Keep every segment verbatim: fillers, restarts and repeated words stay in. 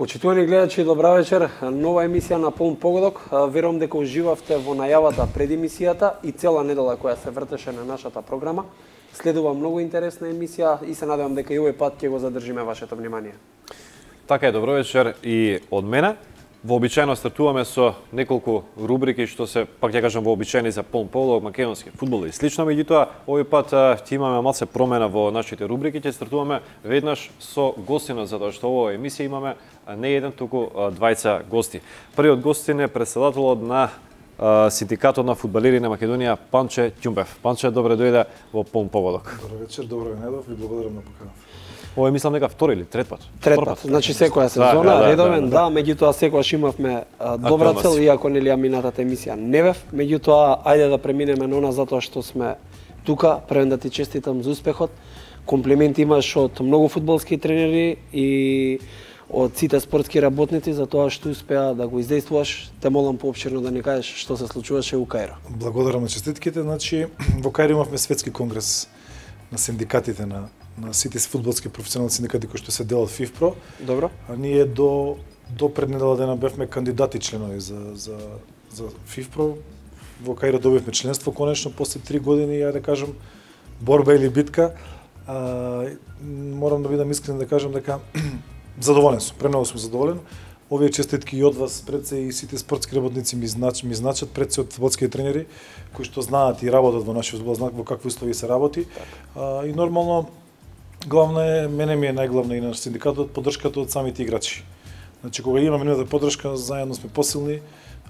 Почитувани гледачи, добра вечер. Нова емисија на Полн погодок. Верувам дека уживавте во најавата пред емисијата и цела недела која се вртеше на нашата програма. Следува многу интересна емисија и се надевам дека и овој пат ќе го задржиме вашето внимание. Така е, добро вечер и од мене. Вообичаено стартуваме со неколку рубрики што се, пак ќе кажам, вообичаени за Полн погодок, македонски фудбал и слично. Меѓутоа, овој пат ќе имаме малце промена во нашите рубрики. Ќе стартуваме веднаш со гостина, затоа што во емисија имаме не еден, туку двајца гости. Првиот гостин е претседателот на Синдикатот на фудбалери на Македонија, Панче Ќумбев. Панче, добре дојде во Полн погодок. Добро вечер, добро ве најдов и благодарам на поканата. Ова е, мислам, дека втори или трет пат? Трет пат. Значи секоја сезона, да, да, редовен, да, да, да, меѓутоа секогаш имавме а, добра цел, иако нели минатата емисија не бев. Меѓутоа, ајде да преминеме на она затоа што сме тука. Првен да ти честитам за успехот. Комплименти имаш од многу фудбалски тренери и од сите спортски работници за тоа што успеа да го издействуваш. Те молам поопширно да ни кажеш што се случуваше во Каиро. Благодарам на честитките. Значи, во Каиро имавме светски конгрес на синдикатите на на сите фудбалски професионални синдикати кои што се дел од ФИФПРО. Добро. А ние до до пред недела дена бевме кандидати членови за за за ФИФПРО. Во Каиро добивме членство конечно после три години, ја да кажам, борба или битка. А, морам да бидам искрен да кажам дека задоволен сум, премногу сум задоволен. Овие честитки и од вас пред се и сите спортски работници ми знач, ми значат пред се од фудбалски тренери кои што знаат и работат во нашиот фудбал, знаат во какви услови се работи. А, и нормално главно е, мене ми е најглавна и на синдикатот, поддршката од самите играчи. Значи, кога имаме нивната поддршка, заедно сме посилни.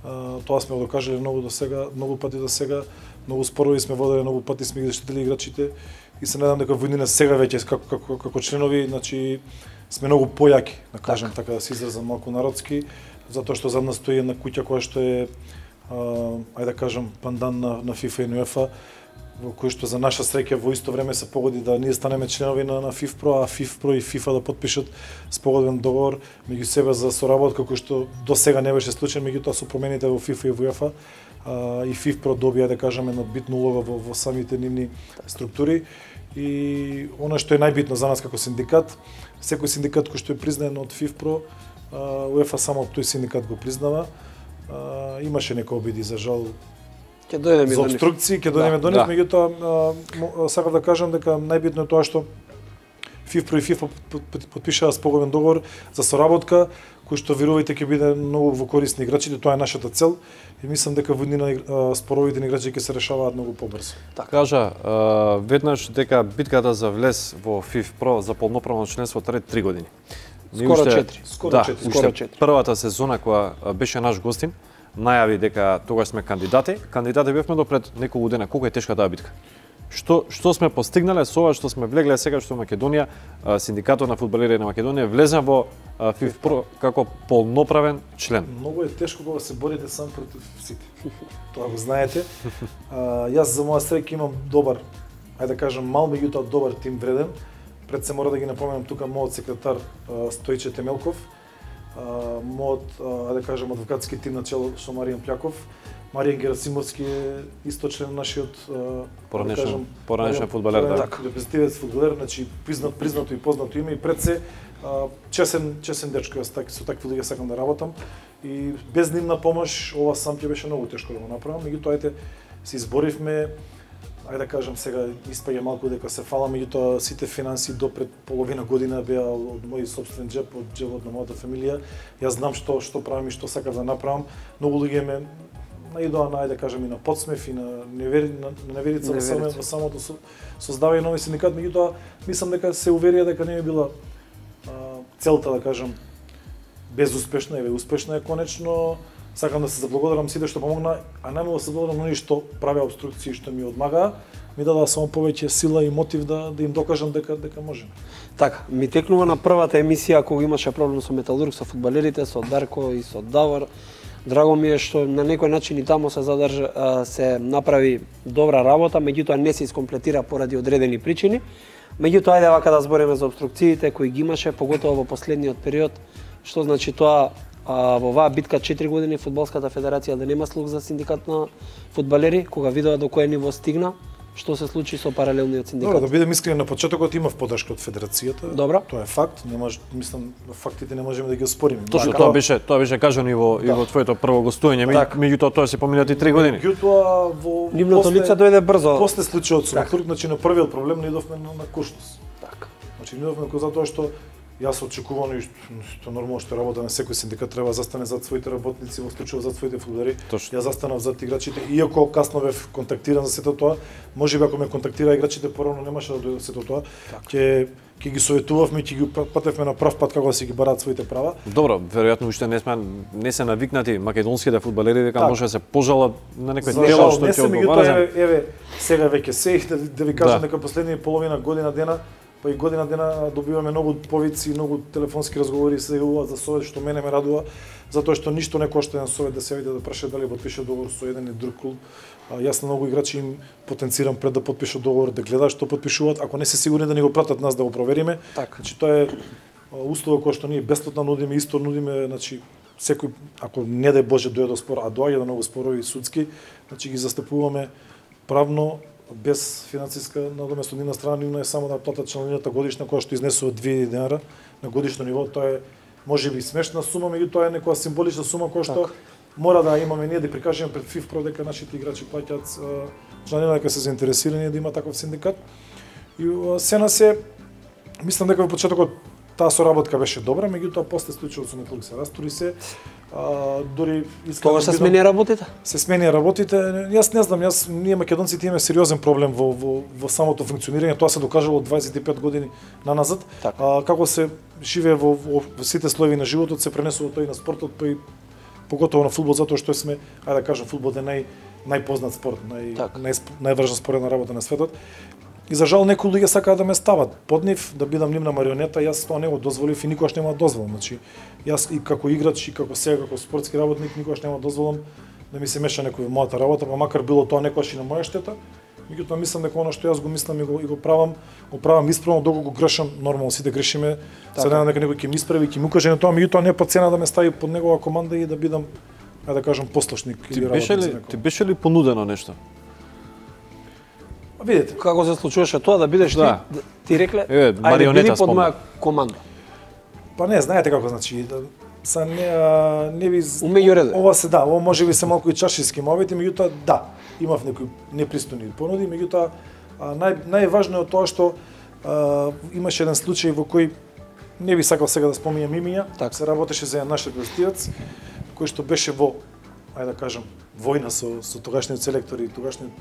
А, тоа сме го докажале многу до сега, многу пати до сега, многу спорови сме водели, многу пати сме ги заштитили играчите и се надам дека во иднина сега веќе како како како членови, значи сме многу појаки, да кажам така, да се изразам малку народски, затоа што за нас стои една куќа која што е а, ајде да кажам пандан на на ФИФА и УЕФА, во кој што за наша среќа во исто време се погоди да ние станеме членови на, на ФИФПРО, а ФИФПРО и ФИФА да потпишат спогодбен договор меѓу себе за соработка кој што до сега не беше случај, меѓутоа со промените во ФИФА и во УЕФА а, и ФИФПРО добија, да кажеме, една битна улога во, во самите нивни структури. И она што е најбитно за нас како синдикат, секој синдикат кој што е признаен од ФИФПРО, УЕФА само тој синдикат го признава. А, имаше некои обиди за жал Ќе дојдеме за обструкции, ќе дојдеме до нив, да. Меѓутоа сакам да кажам дека најбитно е тоа што ФИФПРО и ФИФА потпишаа спогодбен договор за соработка кој што верувајте ќе биде многу во корист на играчите, тоа е нашата цел и мислам дека во иднина споровите на играчи ќе се решаваат многу побрзо. Така кажа, веднаш дека битката за влез во ФИФПРО за полноправно членство трае три години. Скоро четири. Скоро четири. Скоро четири. Првата сезона која беше наш гостин најави дека тогаш сме кандидати. Кандидати бевме до пред неколку дена. Колку е тешка таа битка? Што што сме постигнале со ова што сме влегле сега што Македонија, синдикатот на фудбалери на Македонија влезна во ФИФПРО како полноправен член? Многу е тешко кога се борите сам против сите. Тоа го знаете. А, јас за моја среќа имам добар, ајде да кажам, мал меѓутоа добар тим вреден. Пред се мора да ги напоменам тука мојот секретар Стојче Темелков, мојот, ајде да кажам, адвокатски тим на чело со Маријан Пљаков. Маријан Герасимовски е исто член нашиот поранешен поранешен фудбалер, да. Репрезентативец фудбалер, значи признат, признато и познато име и пред се чесен чесен дечко, јас так со такви луѓе сакам да работам и без нивна помош ова сам ќе беше многу тешко да го направам, меѓутоа ете се изборивме. Ајде да кажам сега испаѓа малку дека се фала, меѓутоа сите финанси до пред половина година беа од мој собствен джеб, од джебот на мојата фамилија. Јас знам што што правам и што сакам да направам. Многу луѓе ме наидоа на, ајде да кажам, и на подсмев и на невери, на, на неверица во само во самото со, создавање нови синдикат, меѓутоа мислам дека се уверија дека не е била а, целта, да кажам, безуспешна, еве успешна е конечно. Сакам да се заблагодарам сите што помогна, а најмногу се благодарам на оние што правеа обструкции, што ми одмагаа, ми дадоа само повеќе сила и мотив да да им докажам дека дека можеме. Така, ми текнува на првата емисија кога имаше проблем со Металург, со фудбалерите, со Дарко и со Давор. Драго ми е што на некој начин и таму се задржа, се направи добра работа, меѓутоа не се искомплетира поради одредени причини. Меѓутоа ајде вака да збориме за обструкциите кои ги имаше, поготово во последниот период, што значи тоа. А, во оваа битка четири години фудбалската федерација да нема слух за синдикат на фудбалери, кога видела до кое ниво стигна, што се случи со паралелниот синдикат? Добро, да бидем искрени, на почетокот имав поддршка од федерацијата. Добро. Тоа е факт, не може, мислам, фактите не можеме да ги оспориме. Точно, тоа беше, тоа беше кажано и во да. и во твоето прво гостување, так. меѓутоа тоа се поминати три години. Меѓутоа во нивното лице дојде брзо. После случајот со Турк, значи на првиот проблем не идовме на, на куршност. Така. Значи не идовме затоа што јас очекувано и што нормално што работа на секој синдикат треба да застане зад своите работници, во случајот зад своите фудбалери. Јас застанав зад играчите, иако касно бев контактиран за сето тоа, можеби ако ме контактира играчите порано немаше да дојде сето тоа. Ќе ќе ги советувавме, ќе ги патевме на прав пат како да си ги бараат своите права. Добро, веројатно уште не сме не се навикнати македонските фудбалери дека так. може да се пожалат на некој дело што ќе одговара. Еве, еве, сега веќе се да, да ви кажам дека последни половина година дена па и година дена добиваме многу повици, многу телефонски разговори се јавуваат за совет, што мене ме радува, затоа што ништо не кошта еден совет да се јави да праше дали потпише договор со еден или друг клуб. А, јас на многу играчи им потенцирам пред да потпишат договор, да гледаат што потпишуваат, ако не се сигурни да ни го пратат нас да го провериме. Так. Значи тоа е услова кој што ние бесплатно нудиме, исто нудиме, значи секој ако не дај Боже дојде до спор, а доаѓа до многу спорови судски, значи ги застапуваме правно без финансиска надомест од нивна страна, нивна е само да платат членарината годишна која што изнесува две илјади денари на годишно ниво. Тоа е можеби смешна сума, меѓутоа е некоја символична сума која што так. мора да имаме ние да прикажеме пред ФИФПРО дека нашите играчи плаќаат членарина, дека се заинтересирани да има таков синдикат. И се на се мислам дека во почетокот таа соработка беше добра, меѓутоа после случајот со Металург се растури се. А, дори Тоа се смени работите? Се смени работите. Јас не знам, јас ние македонците имаме сериозен проблем во во во самото функционирање. Тоа се докажало од дваесет и пет години наназад. А, како се живее во, во, во сите слоеви на животот, се пренесува тоа и на спортот, па и поготово на фудбал, затоа што сме, ајде да кажам, фудбал е нај најпознат спорт, нај нај најважна споредна работа на светот. И за жал некои луѓе сакаат да ме стават под нив, да бидам нивна марионета, јас тоа не го дозволив и никогаш нема да дозволам. Значи, јас и како играч и како сега како спортски работник никогаш нема да дозволам да ми се меша некој во мојата работа, па макар било тоа некогаш и на моја штета. Меѓутоа мислам дека она што јас го мислам и го, и го правам, го правам исправно, доколку го грешам, нормално сите грешиме. Сега дека некој ќе ми исправи, ќе ми укаже на тоа, меѓутоа не по цена да ме стави под негова команда и да бидам, ајде да кажам, послушник или работник за некој. Ти беше ли понудено нешто? Видете како се случуваше тоа да бидеш да. ти ти рекле е, ајде биди под моја команда. Па не, знаете како значи да са не не ви умеѓу ова се да, ова можеби се малку и чаршиски моменти, меѓутоа да, имав некои непристојни понуди, меѓутоа нај најважно е тоа што а, имаше еден случај во кој не би сакал сега да споминам имиња, так се работеше за еден наш гостијац кој што беше во, ајде да кажам, војна со со тогашниот селектор и тогашниот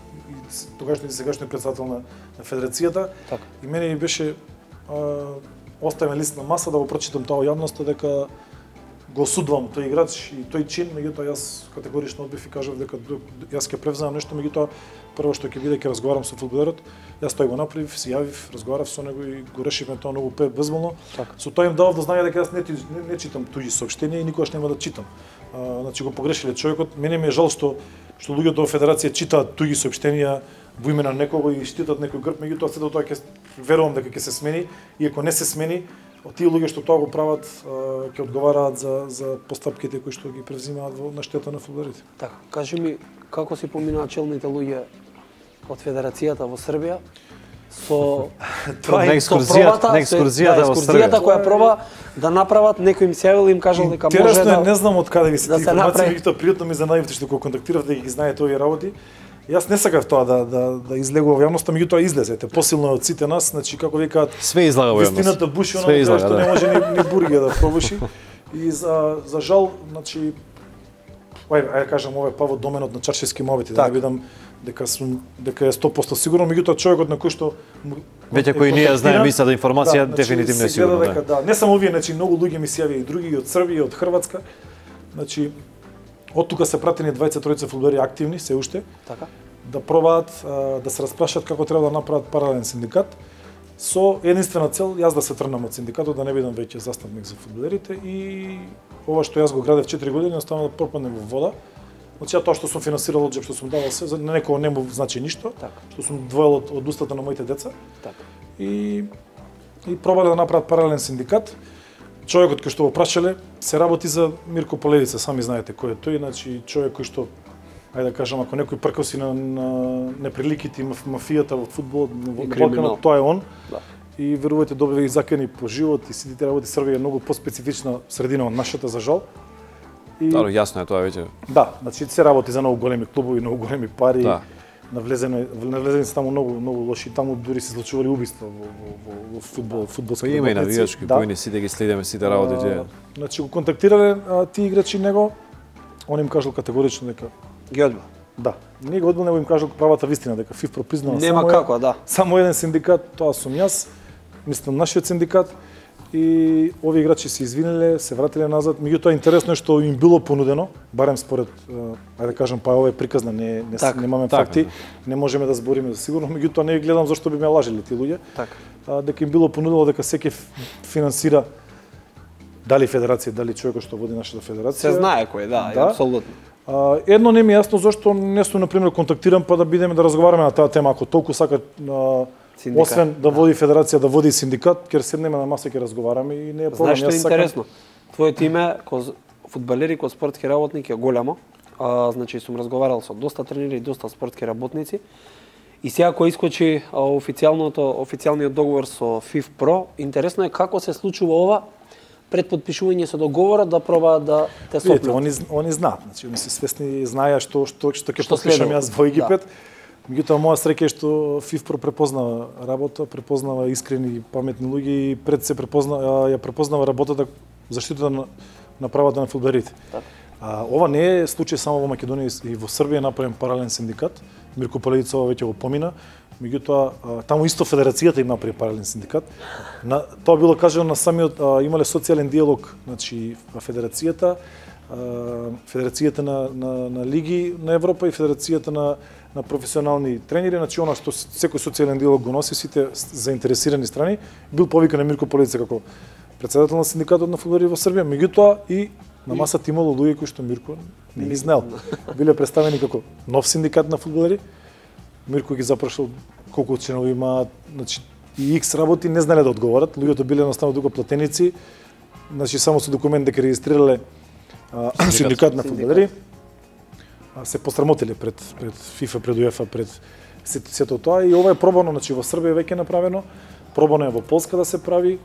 тогашниот и сегашниот председател на, на федерацијата. Так. И мене ми беше а, оставен лист на маса да го прочитам тоа јавноста дека го осудувам тој играч и тој чин, меѓутоа јас категорично одбив и кажав дека јас ќе превземам нешто, меѓутоа прво што ќе биде ќе разговарам со фудбалерот. Јас тој го направив, се јавив, разговарав со него и го решивме тоа многу безболно. Так. Со тоа им давав до знање дека јас не, не, не читам туѓи соопштенија и никогаш нема да читам. А, значи го погрешиле човекот. Мене ми е жал што што луѓето во федерација читаат туѓи соопштенија во име на некого и штитат некој грб, меѓутоа сето тоа ќе верувам дека ќе се смени, и ако не се смени, тие луѓе што тоа го прават ќе одговараат за за постапките кои што ги превзимаат во на штета на фудбалерите. Така, кажи ми како си поминаа челните луѓе од федерацијата во Србија со тоа на екскурзијата, на екскурзијата во Србија, која проба да направат, некој им се јавил и им кажал дека може да. Интересно, не знам од каде ви се да тие информации, меѓутоа пријатно ми занајавте што го контактиравте и ги знаете овие работи. Јас не сакав тоа да да да излегува во јавноста, меѓутоа излезете. Посилно од сите нас, значи како викаат, све излага во јавност. Вистината буши, она излага, што да. Не може ни, ни бурге да пробуши. И за за жал, значи ај ај кажам ова е па во доменот на чаршиски моменти, да не видам дека сум дека е сто проценти сигурно, меѓутоа човекот на кој што веќе кој ние знаеме истата информација, да, дефинитивно е сигурно. Дека, да. Не само овие, значи многу луѓе ми се јавија и други и од Србија, и од Хрватска. Значи од тука се пратени дваесет и тројца фудбалери активни се уште. Така. Да пробаат да се распрашат како треба да направат паралелен синдикат со единствена цел јас да се тргнам од синдикатот, да не бидам веќе застапник за фудбалерите и ова што јас го градев четири години останува да пропадне во вода. Значи тоа што сум финансирал од џеб, што сум давал се, за некого не му значи ништо, так. Што сум двоел од, од устата на моите деца. Так. И и пробале да направат паралелен синдикат. Човекот кој што го прашале се работи за Мирко Полевица, сами знаете кој е тој, значи човек кој што ајде да кажам, ако некој пркоси на, на неприликите и мафијата во фудбал, во Балканот, тоа е он. Да. И верувајте, добива и закани по живот и сите тие работи. Србија е многу поспецифична средина од нашата, за жал. И... Да, јасно е тоа веќе. Да, значи се работи за многу големи клубови, многу големи пари. Да. Навлезено, навлезени се таму многу многу лоши, таму дури се случували убиства во во во, во фудбал, фудбалски. Па има и навијачки поини, сите ги следиме сите работи тие. Значи го контактирале а, тие играчи него, он им кажал категорично дека ги одбил. Да. Не го одбил, него им кажал правата вистина дека ФИФПРО признава Нема само како, да. Само еден синдикат, тоа сум јас, мислам нашиот синдикат. И овие играчи се извинеле, се вратиле назад. Меѓутоа интересно е што им било понудено, барем според, ајде да кажам, па ова е приказна, не не так, немаме так, факти, не можеме да збориме за сигурно, меѓутоа не гледам зашто би ме лажеле тие луѓе. Так. А, дека им било понудено дека секој финансира дали федерација, дали човекот што води нашата федерација. Се знае кој, да, да. Апсолутно. А, едно не ми е јасно зашто не сум на пример контактирам па да бидеме да разговараме на таа тема, ако толку сакат синдикат. Освен да води федерација, да води синдикат, ќе седнеме на маса, ќе разговараме и не е проблем. Знаеш што е интересно? Твоето име кој фудбалери, кој спортски работник е голямо. А, значи сум разговарал со доста тренери и доста спортски работници. И сега кој искочи официјалното официјалниот договор со ФИФПРО, интересно е како се случува ова пред подпишување со договорот да пробаат да те сопнат. Видите, они они знаат, значи они се свесни, знаеа што што што ќе подпишам јас во Египет. Да. Меѓутоа, моја среќа е што ФИФПРО препознава работа, препознава искрени и паметни луѓе и пред се препозна, ја препознава работата, заштитата на, на правата на фудбалерите. А, ова не е случај само во Македонија и во Србија направен паралелен синдикат. Мирко Палевица ова веќе го помина. Меѓутоа, таму исто федерацијата им направи паралелен синдикат. На, тоа било кажано на самиот, а, имале социјален диалог, значи федерацијата, а, федерацијата на, на, на лиги на Европа и федерацијата на на професионални тренери, значи она што секој социјален диалог го носи сите заинтересирани страни, бил повикан на Мирко Палевица како претседател на синдикатот на фудбалери во Србија, меѓутоа и на масата имало луѓе кои што Мирко не ги знаел. Биле представени како нов синдикат на фудбалери. Мирко ги запрашал колку членови имаат, значи и икс работи не знаеле да одговорат, луѓето биле едноставно тука платеници, значи само со документ дека регистрирале а, синдикат на фудбалери. Се посрамотиле пред пред ФИФА, пред УЕФА, пред сето тоа и ова е пробано, значи во Србија веќе направено, пробано е во Полска да се прави,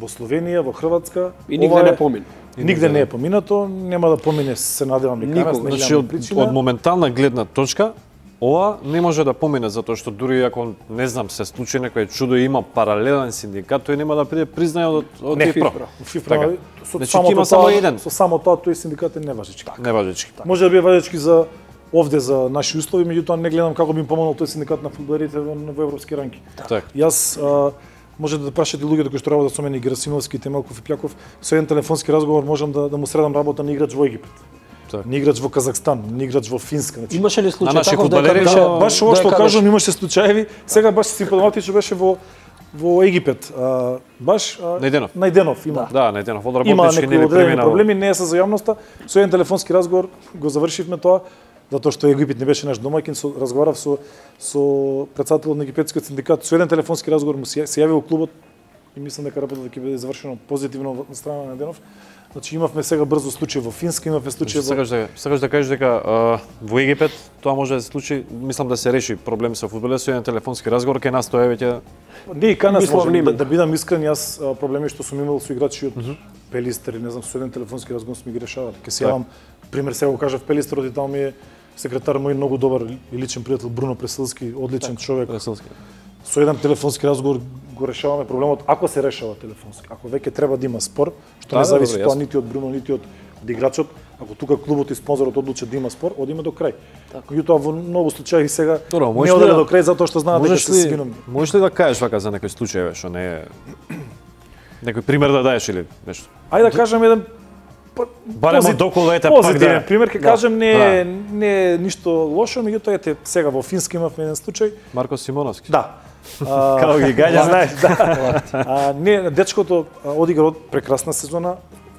во Словенија, во Хрватска и нигде не помина. Нигде не е поминато, нема да помине, се надевам и канас, не значи, од, од моментална гледна точка ова не може да помине затоа што дури ако не знам се случи некој чудо и има паралелен синдикат, тој нема да биде признаен од од ФИФПРО. ФИФПРО со значи, само има тоа, само еден. Со само тоа тој синдикат е неважечки. Неважечки. Може да биде важечки за овде за наши услови, меѓутоа не гледам како би им помогнал тој синдикат на фудбалерите во, во европски ранки. Так. Јас а, може да прашате луѓето кои што работат со мене, Герасимовски, Темелков и Пјаков, со еден телефонски разговор можам да, да му средам работа на играч во Египет. Так. Ни играч во Казахстан, ни играч во Финска. Значи, имаше ли случај таков дека беше да, баш ова што кажам, имаше случаеви. Сега баш симптоматично беше во во Египет. А, баш а, Најденов. Најденов има. Да, Најденов од има работнички некои нели одредени преминал. проблеми, не е за јавноста. Со еден телефонски разговор го завршивме тоа, затоа што Египет не беше наш домаќин, со разговарав со со претседателот на египетскиот синдикат, со еден телефонски разговор му се, се јавил клубот и мислам дека работата ќе биде завршено позитивно од страна на Најденов. Значи имавме сега брзо случај во Финска, имавме случај во Сакаш да сакаш да кажеш дека а, во Египет тоа може да се случи, мислам да се реши проблем со фудбалот со еден телефонски разговор кај нас тоа е веќе не и кај нас може да, да бидам искрен, јас проблеми што сум имал со играчи од mm -hmm. Пелистер, не знам, со еден телефонски разговор сме ги решавале. Ке се јавам пример сега го кажав Пелистер, оди таму ми е секретар мој многу добар и личен пријател Бруно Преселски, одличен так, човек. Преселски. Со еден телефонски разговор го решаваме проблемот, ако се решава телефонски. Ако веќе треба да има спор, што да, не зависи тоа нити од Бруно, нити од играчот, ако тука клубот и спонзорот одлучат да има спор, одиме до крај. Меѓутоа во многу случаи сега Добро, не оделе да, до крај затоа што знаат дека се свином. Можеш ли да кажеш вака за некој случај што не е некој пример да даеш или нешто? Ајде да кажам еден барем од околу ете пак да пример ќе кажем, не е не е ништо лошо, меѓутоа ете сега во Финска имавме еден случај. Марко Симоновски. Да. Како ги гаѓа, знаеш, да. А, не, дечкото одигра од прекрасна сезона,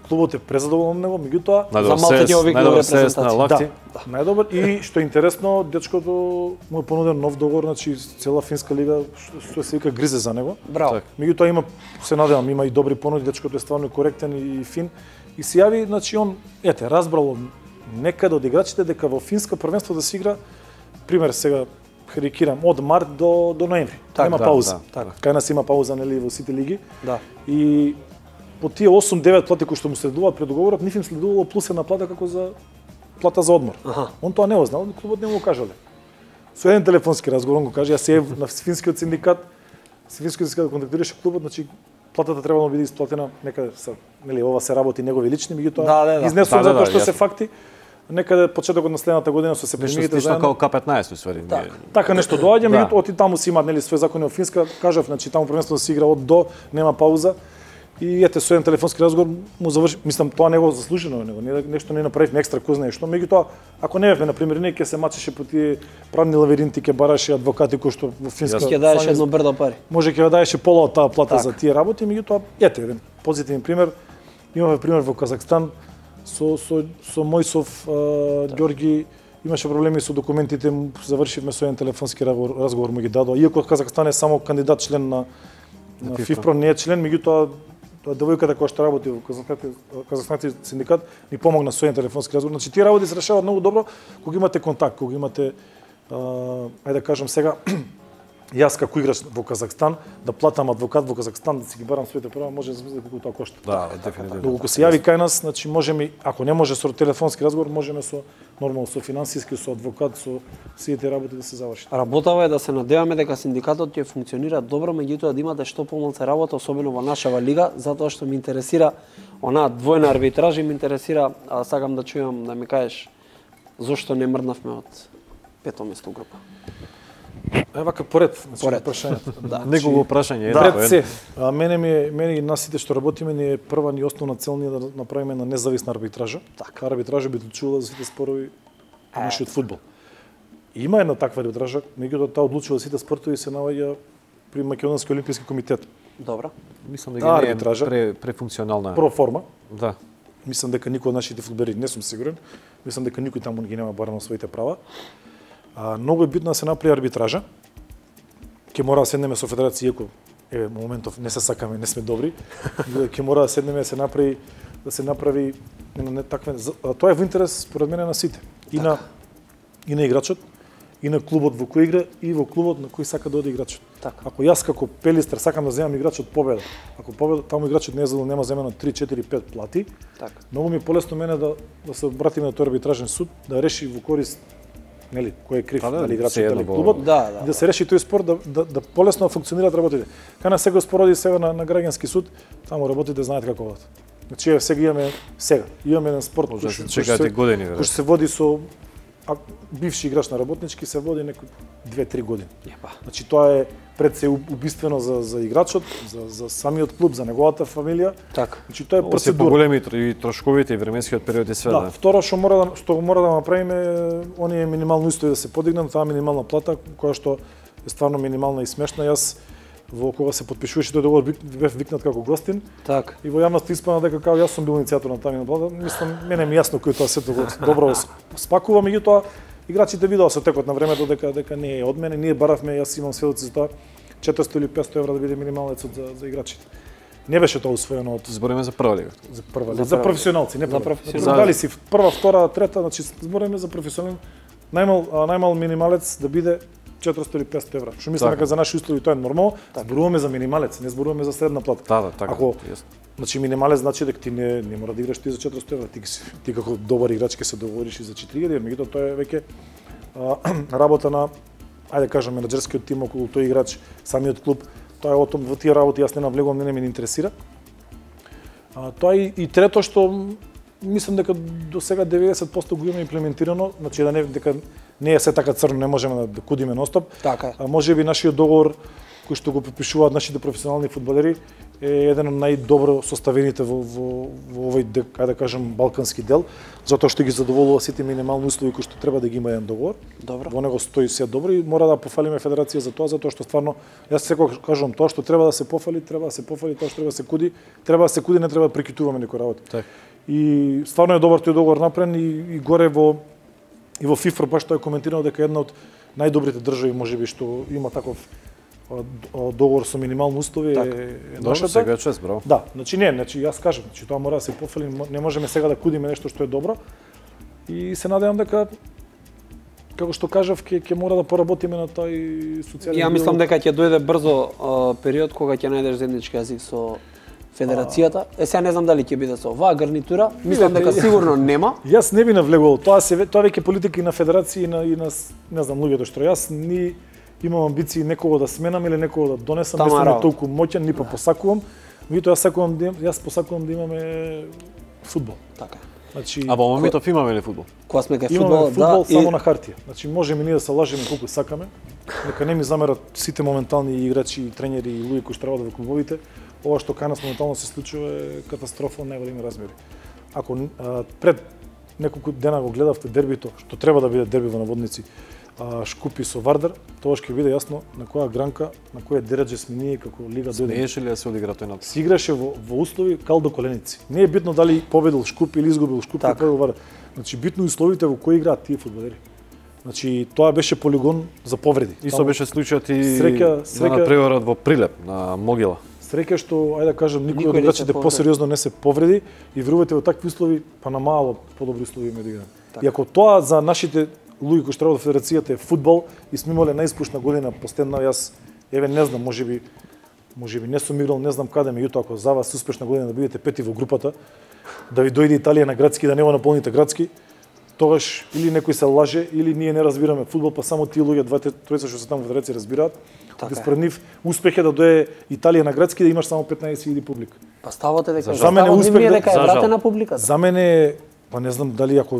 клубот е презадоволен од него, меѓутоа за малку овие репрезентации. Да, најдобар и што е интересно, дечкото му е понуден нов договор, значи цела финска лига што се вика гризе за него. Браво. Меѓутоа има, се надевам, има и добри понуди, дечкото е стварно коректен и фин и се јави, значи он ете разбрал некаде од играчите дека во финска првенство да се игра, пример сега карикирам, од март до до ноември. Так, нема да, пауза. Да, така. Кај нас има пауза нели во сите лиги. Да. И по тие осум девет плати кои што му следуваат пред договорот, нив им следувало плюс една плата како за плата за одмор. Аха. Он тоа не го знал, клубот не му го кажале. Со еден телефонски разговор он го каже, јас се на финскиот синдикат, финскиот синдикат контактираше клубот, значи платата требало да биде исплатена некаде са, нели ова се работи негови лични, меѓутоа да, да, да. изнесувам да, да, затоа што да, се факти. Некаде почетокот на следната година со се премиите заедно. Нешто како К петнаесет усвари. Так. Така нешто доаѓа, да. меѓутоа оти таму си имаат нели свој закони од Финска, кажав, значи таму првенството да се игра од до, нема пауза. И ете со еден телефонски разговор му заврши, мислам тоа него заслужено него, не нешто не направивме екстра кој знае што, меѓутоа ако не бевме на пример не ќе се мачеше по тие правни лавиринти, ќе бараше адвокати кои што во Финска ќе даеше едно брдо пари. Може ќе даеше пола од таа плата так. за тие работи, меѓутоа ете еден позитивен пример. Имаме пример во Казахстан со со со Мојсов да. Ѓорги имаше проблеми со документите, завршивме со еден телефонски разговор, разговор му ги дадоа. Иако Казахстан е само кандидат член на на ФИФПРО, не е член, меѓутоа тоа девојката која што работи во Казахстански синдикат ни помогна со еден телефонски разговор. Значи тие работи се решаваат многу добро кога имате контакт, кога имате а, ајде да кажам сега јас како играч во Казахстан да платам адвокат во Казахстан да си ги барам своите права, може да се колку тоа кошта. Да, дефинитивно. Доколку се јави кај нас, значи можеме, ако не може со телефонски разговор, можеме со нормално со финансиски, со адвокат, со сите работи да се заврши. Работава е да се надеваме дека синдикатот ќе функционира добро, меѓутоа да имате што помалку работа, особено во нашава лига, затоа што ме интересира онаа двојна арбитража, ме интересира, а сакам да чујам да ми кажеш зошто не мрднавме од пето место група. Е вака поред, значи поред. прашањето. Да. Негово прашање е да, да, се. А мене ми е, мене и нас сите што работиме ни е прва ни основна цел ни да направиме на независна арбитража. Така. Арбитража би одлучувала за сите спорови на нашиот фудбал. И има една таква арбитража, меѓутоа таа одлучува сите спортови се наоѓа при Македонски олимписки комитет. Добро. Мислам дека не е арбитража, пре префункционална. Про форма. Да. Мислам дека никој од нашите фудбалери, не сум сигурен, мислам дека никој таму ги нема барано своите права. А, многу е битно да се направи арбитража. Ќе мора да седнеме со федерација, иако еве моментов не се сакаме, не сме добри. Ќе мора да седнеме да се направи да се направи не, не такве, а тоа е во интерес според мене на сите. И так. на и на играчот, и на клубот во кој игра, и во клубот на кој сака да оди играчот. Так. Ако јас како Пелистер сакам да земам играчот победа, ако победа таму играчот не е за да нема земено три, четири, пет плати, Так. многу ми е полесно мене да да се обратиме на тој арбитражен суд, да реши во корист нели, кој е крив, да, дали играчот, едно дали во- клубот, Да, да, и да се реши тој спор, да, да, да полесно функционираат работите. Кај нас сега спороди сега на, на граѓански суд, таму работите знаат како водат. Значи, еве, сега имаме, сега, имаме еден спорт Може да кој се што- чекате кој се- години, кој веројатно. што се води со а, бивши играч на работнички, се води некои две-три години. Епа. Значи, тоа е пред се убиствено за, за играчот, за, за самиот клуб, за неговата фамилија. Така. Значи, тоа е Се процедура. поголеми и трошковите и временскиот период и све, Да, да. второ што мора да што мора да направиме, оние минимални услови да се подигнат, таа минимална плата која што е стварно минимална и смешна. Јас во кога се потпишуваше тој договор бев викнат како гостин Так. и во јавноста испана дека како јас сум бил иницијатор на таа минимална плата. Мислам, мене ми е јасно кој тоа сето го добро спакува, меѓутоа играчите видоа со текот на времето дека дека не е од мене, ние баравме, јас имам сведоци за тоа четиристо или петсто евра да биде минималецот за за играчите. Не беше тоа усвоено од Збориме за прва лига. за прва За за, за прва- професионалци, не за прва. професионалци. Дали си прва, втора, трета, значи збориме за професионален најмал а, најмал минималец да биде четиристо или петсто евра. Што мислам Така. дека за наши услови тоа е нормално. Зборуваме за минималец, не зборуваме за средна плата. Да, да, така. Ако јасно. значи минималец значи дека ти не не мора да играш ти за четиристо евра, ти, си- ти како добар играч ќе се договориш и за четири илјади, меѓутоа тоа е веќе а, работа на ајде да кажам менаџерскиот тим околу тој играч, самиот клуб. Тоа е о том во тие работи јас не навлегувам, не, не ме интересира. А, тоа и, и трето што м, мислам дека до сега деветдесет проценти го има имплементирано, значи да не дека не е се така црно, не можеме да, да кудиме ностоп. Така е. А може би нашиот договор кој што го подпишуваат нашите професионални фудбалери е еден од најдобро составените во, во, во овој, ајде да кажам, балкански дел, затоа што ги задоволува сите минимални услови кои што треба да ги има еден договор. Добро. Во него стои се добро и мора да пофалиме федерација за тоа, затоа што стварно, јас секогаш кажувам, тоа што треба да се пофали, треба да се пофали, тоа што треба да се куди, треба да се куди, не треба да прекитуваме некои работи. Така. И стварно е добар тој договор направен и, и горе во и во ФИФПРО баш тоа е коментирано дека една од најдобрите држави можеби што има таков а, д- договор со минимални услови Така. е, е Добро, нашата. сега е чест, браво. Да, значи не, значи јас кажам, значи тоа мора да се пофали, мо- не можеме сега да кудиме нешто што е добро. И се надевам дека како што кажав, ќе ќе мора да поработиме на тој социјален. Ја мислам дека ќе дојде брзо а, период кога ќе најдеш заеднички јазик со Федерацијата. Е, сега не знам дали ќе биде со оваа гарнитура. Мислам дека сигурно нема. Јас не би навлегувал. Тоа се тоа веќе политика и на федерација и на и на не знам луѓето што јас ни имам амбиции некого да сменам или некого да донесам, не сум толку моќен, ни па посакувам. Меѓутоа јас сакувам да јас посакувам да имаме фудбал. Така. Значи, а во моментов имаме ли фудбал? Кога сме кај фудбал, фудбал да, само и... на хартија. Значи можеме ние да се лажеме колку сакаме. Нека не ми замерат сите моментални играчи, тренери и луѓе кои што работат во клубовите. Ова што кај нас моментално се случува е катастрофа од најголеми размери. Ако а, пред неколку дена го гледавте дербито, што треба да биде дерби во наводници, а, Шкупи со Вардар, тоа ќе биде јасно на која гранка, на која дередже сме ние како лига дојде. Смееше ли да се одигра тој напад? Се играше во, во услови кал до коленици. Не е битно дали победил Шкупи или изгубил Шкупи, така. Победил Вардар. Значи битно условите во кои играат тие фудбалери. Значи тоа беше полигон за повреди. Исто беше случајот и среќа, среќа... на преварот во Прилеп на Могила. Среќа што, ајде да кажам, никој од играчите посериозно не се повреди и верувате во такви услови, па на мало подобри услови има да играат. И ако тоа за нашите луѓе кои што работат во федерацијата е фудбал и сме имале најуспешна година последна, јас еве не знам, можеби можеби не сум играл, не знам каде, меѓутоа ако за вас успешна година да бидете пети во групата, да ви дојде Италија на градски, да не го наполните градски, тогаш или некој се лаже или ние не разбираме фудбал, па само тие луѓе двајца тројца што се таму во федерација разбираат. Така според нив успех е да дое Италија на градски да имаш само петнаесет илјади публика. Па ставате дека за мене успех дека е вратена публиката. За мене па не знам дали ако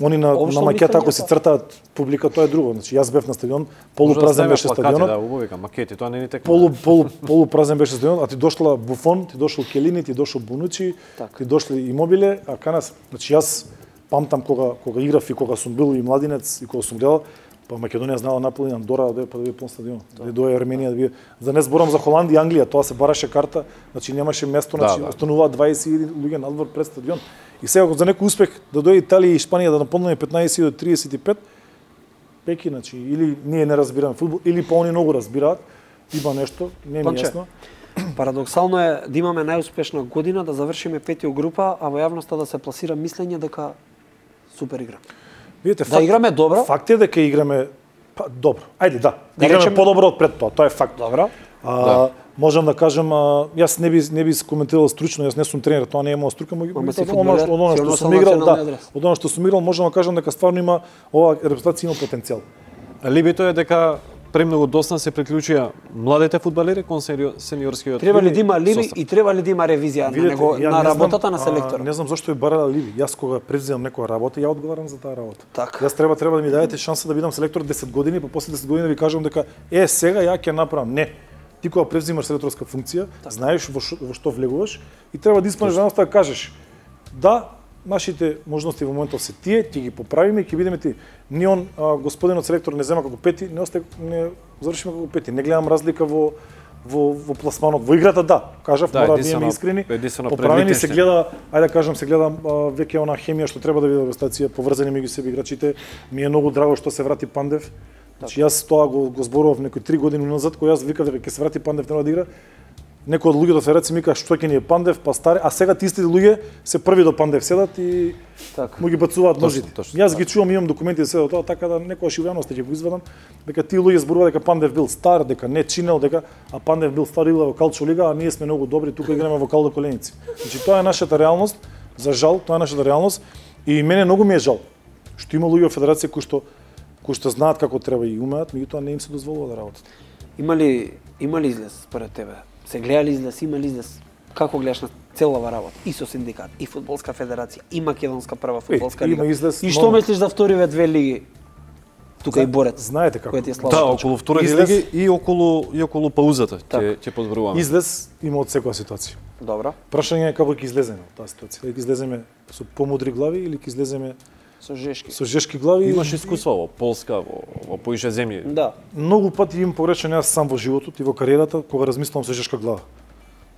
они на на макета ако се цртаат публика, тоа е друго. Значи јас бев на стадион, полупразен беше стадионот. Да, убаво вика, макети, тоа не ни текна. Полу полу полупразен беше стадионот, а ти дошла Буфон, ти дошол Келини, ти дошол Бонучи, ти дошли Имобиле, а кај нас, значи јас памтам кога кога играв и кога сум бил и младинец и кога сум гледал, па Македонија знала наполни Андора да па да биде пун стадион. Да дое Арменија да биде. За не зборам за Холандија и Англија, тоа се бараше карта, значи немаше место, значи остануваат дваесет илјади луѓе надвор пред стадион. И сега за некој успех да дојде Италија и Шпанија да наполниме петнаесет до триесет и пет, пеки, значи или ние не разбираме фудбал, или па они многу разбираат, има нешто, не ми јасно. Парадоксално е да имаме најуспешна година, да завршиме пети група, а во јавноста да се пласира мислење дека супер игра. Видите, да факт, играме добро. Факт е дека играме па, добро. Ајде, да. Да играме речем... подобро од пред тоа, тоа е факт. Добро. А, да. Можам да кажам, а, јас не би не би коментирал стручно, јас не сум тренер, тоа не е моја струка, но од она што сум играл, да, од она што сум играл, можам да кажам дека стварно има ова репрезентација има потенцијал. Либито е дека премногу досна се приклучија младите фудбалери кон сениорскиот. Треба ли да има ливи и треба ли да има ревизија на него на работата на селектора? Не знам зошто е барала ливи. Јас кога превземам некоја работа, ја одговарам за таа работа. Так. Јас треба треба да ми дадете шанса да бидам селектор десет години, па после десет години да ви кажам дека е сега ја ќе направам. Не. Ти кога превземаш селекторска функција, так. Знаеш во што, во што влегуваш и треба да исполниш заноста да кажеш да, нашите можности во моментов се тие, ќе ги поправиме и ќе видиме ти. Ни он а, господинот селектор не зема како пети, не осте не завршиме како пети. Не гледам разлика во во во пласманот, во играта да. Кажав, да, мора да бидеме искрени. Поправени се гледа, ајде да кажам, се гледа веќе она хемија што треба да биде во стација, поврзани меѓу себе играчите. Ми е многу драго што се врати Пандев. Значи јас тоа го, го зборував некои три години назад, кога јас викав дека ќе се врати Пандев треба да игра. Некои од луѓето федерација ми кажа што ќе ни е Пандев, па стари, а сега тие луѓе се први до Пандев седат и така му ги бацуваат ножите. Јас ги чувам, имам документи за седат тоа, така да некогаш и во јавноста ќе го извадам, дека тие луѓе зборуваат дека Пандев бил стар, дека не чинел, дека а Пандев бил стар игра во Калчо лига, а ние сме многу добри, тука играме во Калдо Коленици. Значи тоа е нашата реалност, за жал, тоа е нашата реалност и мене многу ми е жал што има луѓе во федерација кои што кои што знаат како треба и умеат, меѓутоа не им се дозволува да работат. Има ли има ли излез според тебе? Се гледа ли излез, има ли излез? Како гледаш на целава работа? И со синдикат, и фудбалска федерација, и македонска прва фудбалска е, лига. Излез, и што но... мислиш за вториве две лиги? Тука Зна... и борец. Знаете како? Да, околу вторите излез... лиги и околу и околу паузата ќе ќе подборуваме. Излез има од секоја ситуација. Добро. Прашање е како ќе излеземе од таа ситуација. Дали ќе излеземе со помудри глави или ќе излеземе со жешки. Со жешки глави. Имаш искуство во Полска, во, во поише земји. Да. Многу пати имам погрешено јас сам во животот и во кариерата кога размислувам со жешка глава.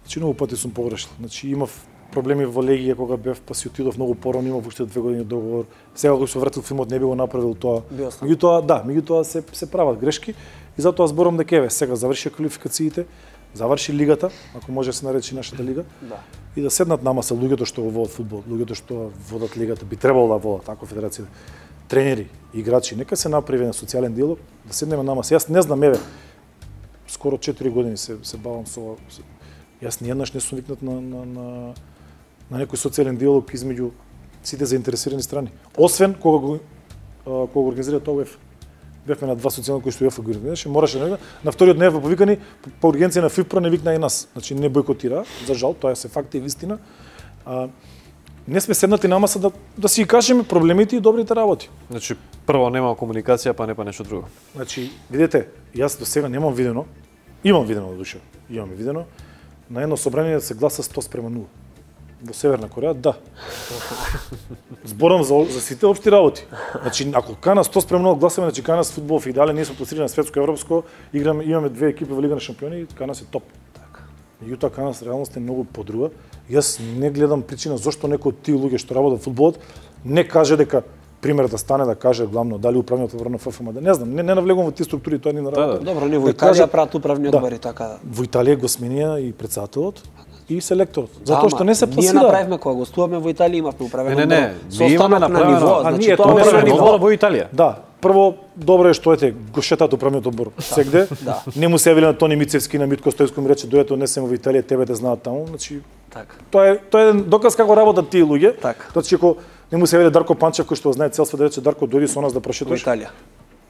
Значи многу пати сум погрешил. Значи имав проблеми во Легија кога бев, па си отидов многу порано, имав уште две години договор. Сега кога се вратил филмот не би го направил тоа. Меѓутоа, да, меѓутоа се се прават грешки и затоа зборам дека еве сега завршија квалификациите, заврши лигата, ако може да се наречи нашата лига, Да. и да седнат на маса луѓето што го водат фудбал, луѓето што водат лигата, би требало да водат, ако федерација, тренери, играчи, нека се направи на социјален диалог, да седнеме на маса. Јас не знам, еве, скоро четири години се се бавам со ова. Јас ниеднаш не сум викнат на на на на некој социјален диалог измеѓу сите заинтересирани страни. Освен кога го кога го организира тоа УЕФА. Бевме на два социјални кои што УЕФА го организираше, мораше да на вториот не бевме повикани, по ургенција на ФИФПРО не викна и нас. Значи не бойкотира, за жал, тоа се факт и вистина. А, не сме седнати на маса да да си кажеме проблемите и добрите работи. Значи прво нема комуникација, па не па нешто друго. Значи, видете, јас до сега немам видено, имам видено до душа, имам видено, на едно собрание да се гласа сто спрема нула. Во Северна Кореја, да. Зборам за, за сите општи работи. Значи, ако кана сто спрема нула гласаме, значи кана с фудбал в идеален, ние сме пласирани на светско европско, играме, имаме две екипи во Лига на шампиони и кана се топ. Така. Меѓутоа кана се реалност е многу подруга. Јас не гледам причина зошто некој од тие луѓе што работат фудбалот не каже дека пример да стане да каже главно дали управниот одбор на ФФМ, да не знам, не, не навлегувам во тие структури, тоа не на работа. Да, Добро, не во Италија прават управни одбори, така да. Во Италија го сменија и председателот и селекторот, затоа што не се Ние пласира. направивме кога гостуваме во Италија, имавме управен Не, не, не, одбор. ние имаме на направено- ниво, А, значи ние тоа тоа е не управен сме одбор. одбор во Италија. Да, прво добро е што ете го шетат управниот одбор сегде. Да. Не му се јавиле на Тони Мицевски на Митко Стојско ми рече дојдете однесемо во Италија, тебе те знаат таму, значи Така. тоа е тоа е еден доказ како работат тие луѓе. Така. Значи ако не му се јавиле Дарко Панчев кој што знае цел свет да рече Дарко дојди со нас да Во прошеташ. Италија.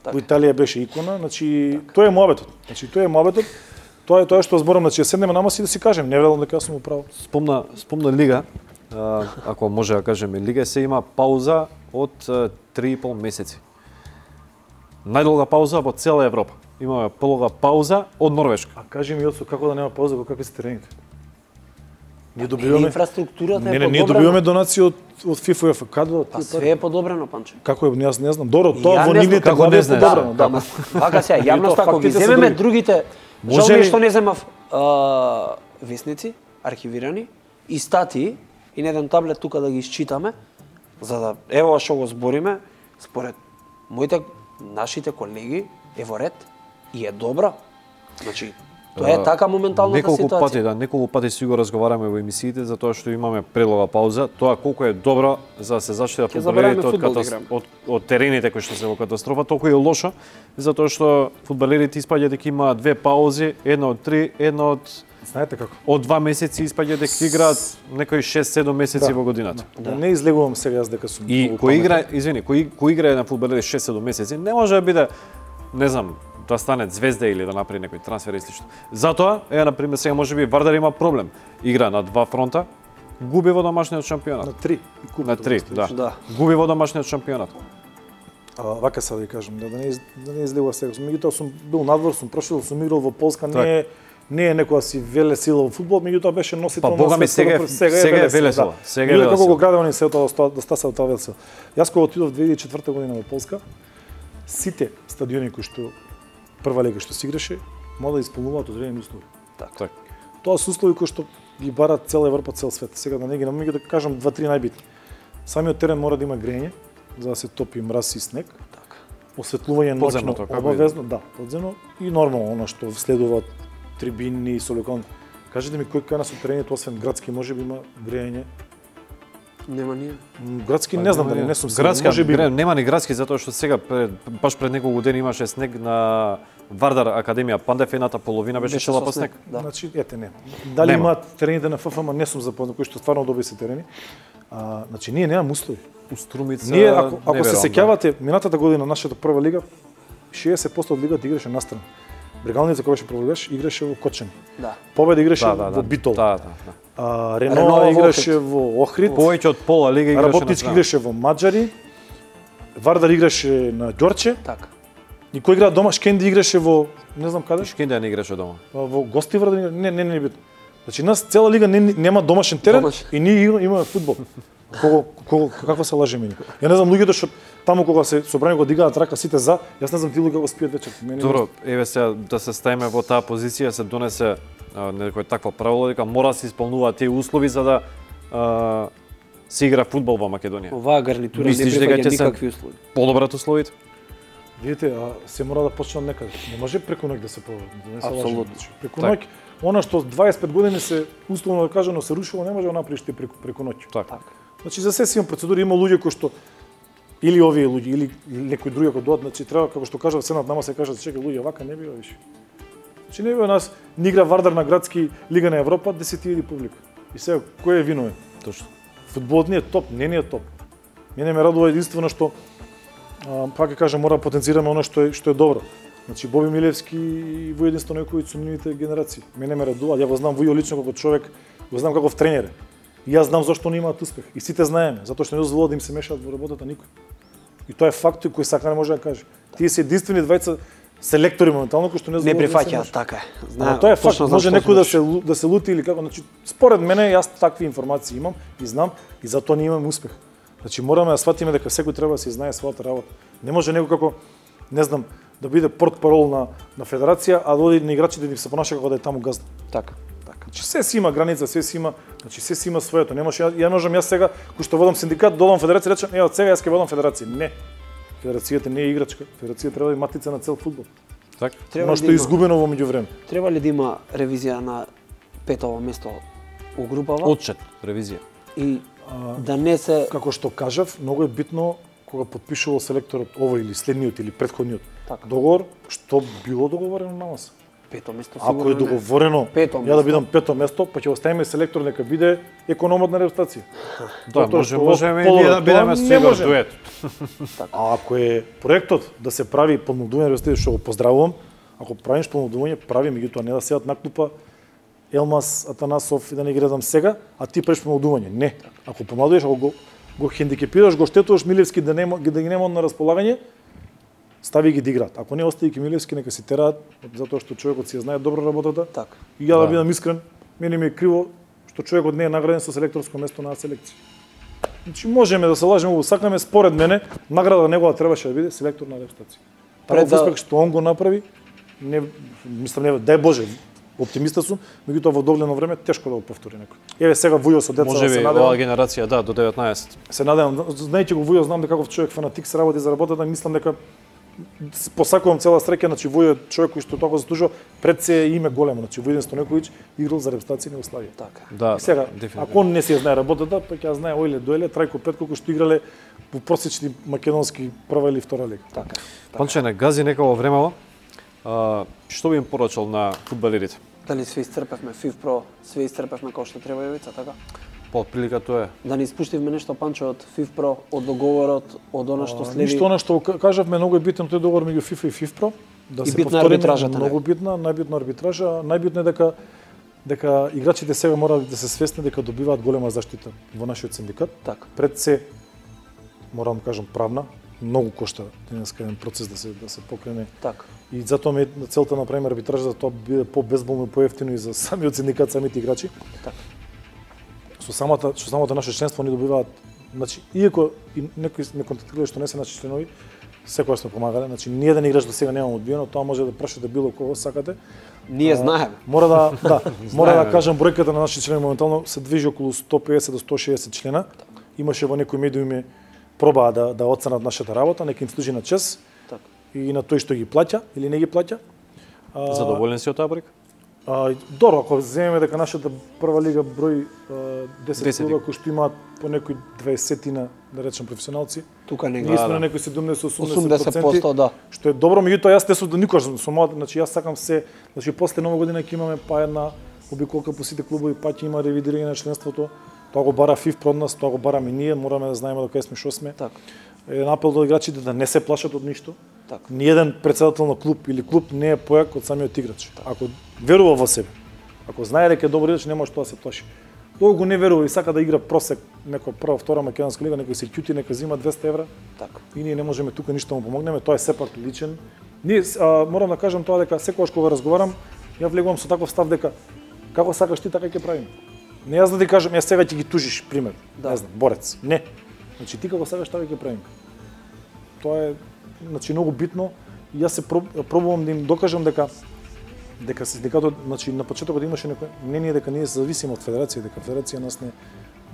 Во Италија беше икона, значи тоа е муабетот. Значи тоа е муабетот. Тоа е тоа што зборам, значи седнеме на маса и да си кажем, не верувам дека јас сум управо. Спомна, спомна лига, а, ако може да кажеме лига, се има пауза од а, три и пол месеци. Најдолга пауза во цела Европа. Имаме полога пауза од Норвешка. А кажи ми Јоцо, како да нема пауза, во какви се терените? Ние Или добиваме инфраструктурата Не, е не, ние подобрена. добиваме донации од од ФИФА и УЕФА. Каде од Па тие све пари? е подобрено, Панче. Како е, јас не знам. Добро, И тоа ја во не знам нивните како години не е знаеш. подобрено, Да, да. ама вака сега, јавноста тоа ако ги фактите се земеме други. другите, Може жал ми е ли- што не земав а, весници, архивирани, и статии, и на еден таблет тука да ги исчитаме, за да, ево што го збориме, според моите, нашите колеги, е во ред и е добра. Значи, тоа е така моменталната Неколку ситуација. пати, да, неколку пати си го разговараме во емисиите за тоа што имаме предлога пауза, тоа колку е добро за да се заштитат Ќе фудбалерите забораваме од, фудбал да катас... играме. од, од терените кои што се во катастрофа, толку е лошо, затоа што фудбалерите испаѓа дека има две паузи, една од три, една од Знаете како? од два месеци испаѓа дека играат некои шест-седум месеци Да. во годината. Да. Не излегувам сега јас дека сум. И многу кој паметен. игра, извини, кој кој играе на фудбалери шест-седум месеци, не може да биде, не знам, да стане звезда или да направи некој трансфер и слично. Затоа, е на пример сега можеби Вардар има проблем. Игра на два фронта, губи во домашниот шампионат. На три. И куп, На три, тоа да. Да. Губи во домашниот шампионат. А, вака сега да ви кажам, да, да не из, да не излегува сега. Меѓутоа сум бил надвор, сум прошел, сум играл во Полска, не е не е некоја си веле сила во фудбал, меѓутоа беше носител Па, бога ми, сега е- сега е веле сила, сега е веле како сила. го градел ни се тоа да, да стаса тоа веле сила. Јас кога отидов две илјади и четврта година во Полска, сите стадиони кои што прва лига што се играше, мора да исполнуваат одредени услови. Така. Тоа се услови кои што ги барат цела Европа, цел свет. Сега да не ги намеѓу да кажам два-три најбитни. Самиот терен мора да има грење, за да се топи мраз и снег. Така. Осветлување ноќно Подземното, како обавезно, да, подземно и нормално она што следува трибини и солекон. Кажете ми кој кај нас од терените освен градски можеби има грење? Нема ние. М, Градски не знам дали не сум сигурен, Градска, можеби гре, нема ни градски затоа што сега пред, баш пред неколку години имаше снег на Вардар Академија Пандев, едната половина беше Беше чела со по снег. Да. Значи, ете не. Дали Нема. имаат терените на ФФМ, не сум запознат, кои што стварно добри се терени. А, значи ние немаме услови. У Струмица. Ние ако ако не се верувам, сеќавате, минатата година нашата прва лига, шеесет проценти од лигата играше настрана. Брегалница која беше прва лига, играше во Кочани. Да. Победа играше Да, да, да. во Битол. Да, да, да. А, Рено Рено во играше во Охрид. Повеќе од пола лига играше на Работнички страна. играше во Маđари. Вардар играше на Ѓорче. Така. И кој игра дома? Шкенди играше во не знам каде. Шкендија не играше дома. Во Гостивар, не не не, не е битно. Значи нас цела лига не, нема домашен терен Домашен. и ние игра- имаме фудбал. Кого, кого, каква се лажеме ние? Ја не знам луѓето што таму кога се собрани го дигаат рака сите за, јас не знам тие луѓе како спијат вечер. Мене Добро, еве сега да се ставиме во таа позиција, се донесе а, некој таква правило дека мора да се исполнуваат тие услови за да а, се игра фудбал во Македонија. Оваа гарнитура не Мислиш дека ќе прифаќа се- никакви услови. Подобрат условите? Видите, а се мора да почне од некаде. Не може преку ноќ да се проведе. Да Апсолутно. Преку ноќ, она што дваесет и пет години се условно да кажано се рушило, не може да направиш ти преку, преку ноќ. Така. Значи за се си има процедури, има луѓе кои што или овие луѓе или некои други кои доаѓаат, значи треба како што кажав сенат нама се кажат чекај луѓе, вака не бива више. Значи не бива нас ни игра Вардар на градски лига на Европа десет илјади публика. И сега кој е виновен? Точно. Фудболот не е топ, не не е топ. Мене ме радува единствено што а, пак ќе кажам мора да потенцираме она што е што е добро. Значи Боби Милевски и Воје Единство Нојковиќ со нивните генерации. Мене ме радува, ја го знам Воје лично како човек, го знам како тренер. И јас знам зашто не имаат успех. И сите знаеме, затоа што не дозволува да им се мешаат во работата никој. И тоа е факт кој сака не може да каже. Тие се единствени двајца селектори моментално кои што не не прифаќаат, така е. Знаем, тоа е факт, може некој да се да се лути или како, значи според мене јас такви информации имам и знам и затоа не имаме успех. Значи мораме да сватиме дека секој треба да се знае својата работа. Не може некој како не знам да биде портпарол на на федерација, а да оди на играчите да се понаша како да е таму газда. Така, така. Значи се си има граница, се си има, значи се си има своето. Не може ја можам јас сега кој што водам синдикат, додам федерација, речам, е од сега јас ќе водам федерација. Не. Федерацијата не е играчка. Федерацијата треба да е матица на цел фудбал. Така. Треба што е изгубено во меѓувреме. Треба ли да има ревизија на петово место у групава? Отчет, ревизија. И а, да не се како што кажав, многу е битно кога потпишувал селекторот овој или следниот или претходниот така. Договор, што било договорено на нас. Пето место сигурно. Ако е договорено, пето ја да бидам пето место, па ќе оставиме селектор нека биде економот на репутација. Да, може, можеме и ние да бидеме со Игор дует. А ако е проектот да се прави помнодување на репутација, што го поздравувам, ако правиш помнодување, прави, меѓутоа не да седат на клупа Елмас Атанасов и да не ги редам сега, а ти правиш помладување. Не. Ако помладуваш, ако го, го хендикепираш, го штетуваш Милевски да нема да ги нема на располагање, стави ги да играат. Ако не остави ги Милевски, нека си тераат, затоа што човекот си ја знае добро работата. Така. И ја да, да бидам искрен, мене ми е криво што човекот не е награден со селекторско место на селекција. Значи можеме да се лажеме, го сакаме, според мене, награда негова требаше да биде селектор на репутација. Пред да... успех што он го направи, не мислам не, дај Боже, оптимиста сум, меѓутоа во догледно време тешко да го повтори некој. Еве сега Вујо со деца може се надевам. Може би генерација да до деветнаесет. Се надевам, знаејќи го Вујо, знам дека каков човек фанатик се работи за работата, мислам дека посакувам цела среќа, значи Вујо е човек кој што толку заслужува, пред се име големо, значи Воје Единство Нојковиќ играл за репутација на Југославија. Така. Да. И сега, да, ако он не се знае работата, па ќе знае Ојле Доеле, Трајко Петко кои што играле во просечни македонски прва или втора лига. Така. Панче не гази некако времево. А, што би им порачал на фудбалерите? Дали све исцрпевме FIFPro, све исцрпевме како што треба Јовица, така? Па отприлика тоа е. Да не испуштивме нешто, Панчо, од FIFPro, од договорот, од она што следи. Ништо она што кажавме, многу е битен тој договор меѓу FIFA и FIFPro, да и се битна повтори, арбитражата, многу битна, најбитна арбитража, најбитно е дека дека играчите сега мора да се свесни дека добиваат голема заштита во нашиот синдикат. Така. Пред се морам да кажам правна, многу кошта денеска еден процес да се да се покрене. Така. И затоа ме целта на направиме арбитража за тоа биде по-безболно и поевтино и за самиот синдикат, самите играчи. Така. Со самата со самото наше членство они добиваат, значи иако и некои не контактирале што не се наши членови, секогаш сме помагале, значи ни еден играч до сега немам одбиено, тоа може да прашате било кого сакате. Ние знаеме. Мора да, да, мора да кажам бројката на нашите члени моментално се движи околу сто педесет до сто шеесет члена. Имаше во некои медиуми пробаа да да оценат нашата работа, нека им служи на чест. Така. И на тој што ги плаќа или не ги плаќа. Задоволен си од таа бројка? А, добро, ако земеме дека нашата прва лига број десет клуба кои што имаат по некои дваесетина, да речем, професионалци. Тука не ние сме на некои седумдесет осумдесет проценти, да. Што е добро, меѓутоа јас не сум никогаш со мојата, значи јас сакам се, значи после нова година ќе имаме па една обиколка по сите клубови, па ќе има ревидирање на членството. Тоа го бара FIFPro од нас, тоа го бараме ние, мораме да знаеме до кај сме, што сме. Така. Е апел до играчите да не се плашат од ништо. Така. Ниеден председател на клуб или клуб не е појак од самиот играч. Така. Ако верува во себе, ако знае дека е добар играч, не може тоа да се плаши. Тој го не верува и сака да игра просек некоја прва, втора македонска лига, некој се ќути, нека зима двесте евра. Така. И ние не можеме тука ништо му помогнеме, тоа е сепак личен. Ние а, морам да кажам тоа дека секогаш кога разговарам, ја влегувам со таков став дека како сакаш ти така ќе правиме. Не јас да ти кажам, јас сега ќе ги тужиш, пример. Да. Не знам, борец. Не. Значи ти како сакаш така ќе правиме. Тоа е значи многу битно и јас се пробувам да им докажам дека дека синдикатот, значи на почетокот имаше некој мнение дека ние зависиме од федерација, дека федерација нас не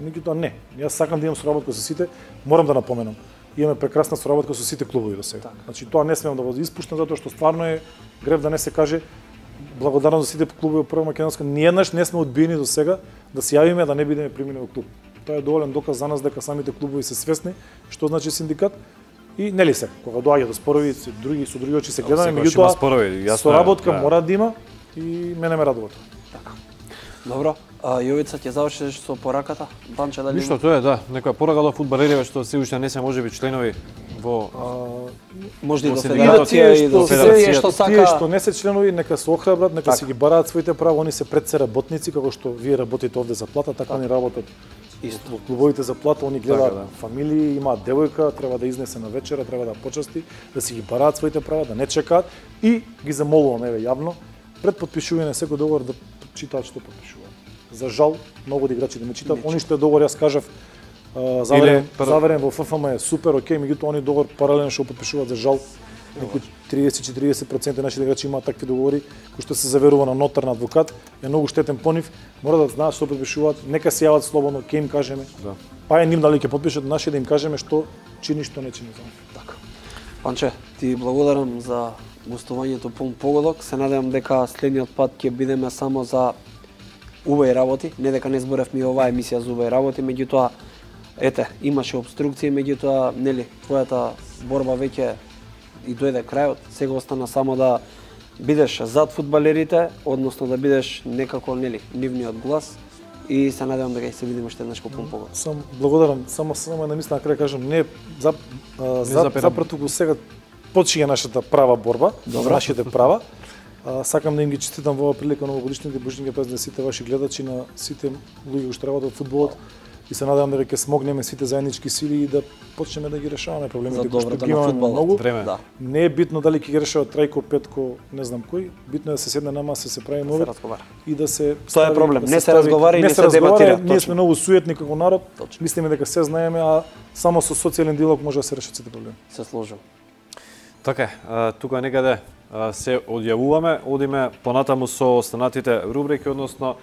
меѓутоа не. Јас сакам да имам соработка со сите, морам да напоменам. имаме прекрасна соработка со сите клубови до сега. Так. Значи тоа не смеам да го испуштам затоа што стварно е грев да не се каже благодарно за сите клубови во прва македонска. Ниеднаш не сме одбиени до сега да се јавиме да не бидеме примени во клуб. Тоа е доволен доказ за нас дека самите клубови се свесни што значи синдикат. И нели се, кога доаѓа до спорови, со други со други очи се гледаме, меѓутоа соработка да. Мора да има и мене ме радува тоа. Така. Добро, а Јовица ќе завршиш со пораката? Банче дали? Ништо, тоа е да, некоја порака до фудбалериве што се уште не се можеби членови во може и до федерација и до федерација што сака. Тие што не се членови нека се охрабрат, нека си ги бараат своите права, они се пред се работници како што вие работите овде за плата, така они работат. Исто. Во клубовите за плата, они гледаат така, да. Фамилии, имаат девојка, треба да изнесе на вечера, треба да почасти, да си ги бараат своите права, да не чекаат и ги замолувам еве јавно пред потпишување на секој договор да читаат што потпишуваат. За жал, многу од играчи да не читаат. Они што е договор, јас кажав, заверен, Или... заверен во Ф Ф М е супер, окей, меѓутоа они договор паралелно што потпишуваат за жал. Некои триесет до четириесет проценти наши играчи имаат такви договори кои што се заверува на нотар, на адвокат, е многу штетен по нив. Мора да знаат што потпишуваат, нека се јават слободно, ќе им кажеме. Да. Па е ним дали ќе потпишат, наши да им кажеме што чини, што не чини за нив. Така. Панче, ти благодарам за гостувањето Полн погодок. Се надевам дека следниот пат ќе бидеме само за убави работи, не дека не зборевме и оваа емисија за убави работи, меѓутоа ете, имаше обструкции, меѓутоа нели твојата борба веќе и дојде крајот. Сега остана само да бидеш зад фудбалерите, односно да бидеш некако нели нивниот глас и се надевам дека ќе се видиме уште еднаш Полн погодок. Сам благодарам, само само една мисла на крај кажам, не за за запрету сега почига нашата права борба, за нашите права. А, сакам да им ги честитам во оваа прилика новогодишните божинки празници на сите ваши гледачи, на сите луѓе што работат во фудбалот и се надевам дека ќе смогнеме сите заеднички сили и да почнеме да ги решаваме проблемите кои што ги имаме многу. Да. Не е битно дали ќе ги решава Трајко, Петко, не знам кој, битно е да се седне на маса, се прави мовет и да се тоа е проблем, да не се разговара и не се дебатира. Ние сме многу суетни како народ, мислиме дека се знаеме, а само со социјален диалог може да се решат сите проблеми. Се сложам. Така, тука некаде се одјавуваме, одиме понатаму со останатите рубрики, односно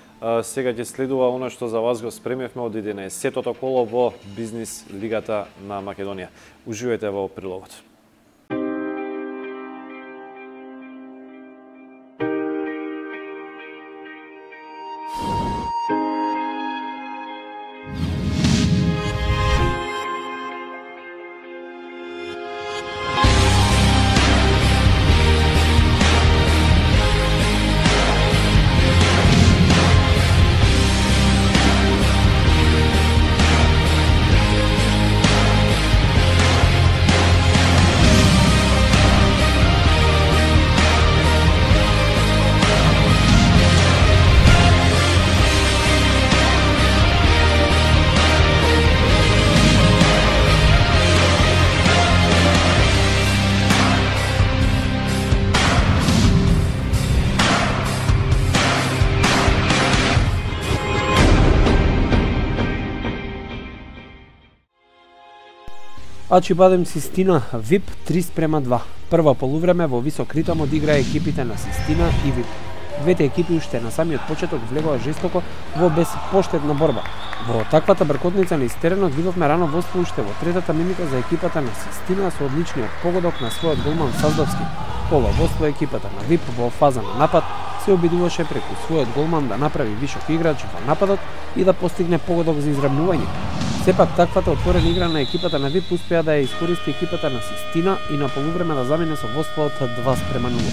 сега ќе следува она што за вас го спремивме од единаесеттото коло во Бизнис лигата на Македонија. Уживајте во прилогот. Ачибадем Систина ВИП три спрема два. Прва полувреме во висок ритм одигра екипите на Систина и ВИП. Двете екипи уште на самиот почеток влегоа жестоко во безпоштедна борба. Во таквата бркотница низ теренот видовме рано водство уште во третата минута за екипата на Систина со одличниот погодок на својот голман Саздовски. Пола водство екипата на ВИП во фаза на напад се обидуваше преку својот голман да направи вишок играч во нападот и да постигне погодок за изравнување. Сепак таквата отворена игра на екипата на ВИП успеа да ја искористи екипата на Систина и на полувреме да замине со водство од два спрема нула.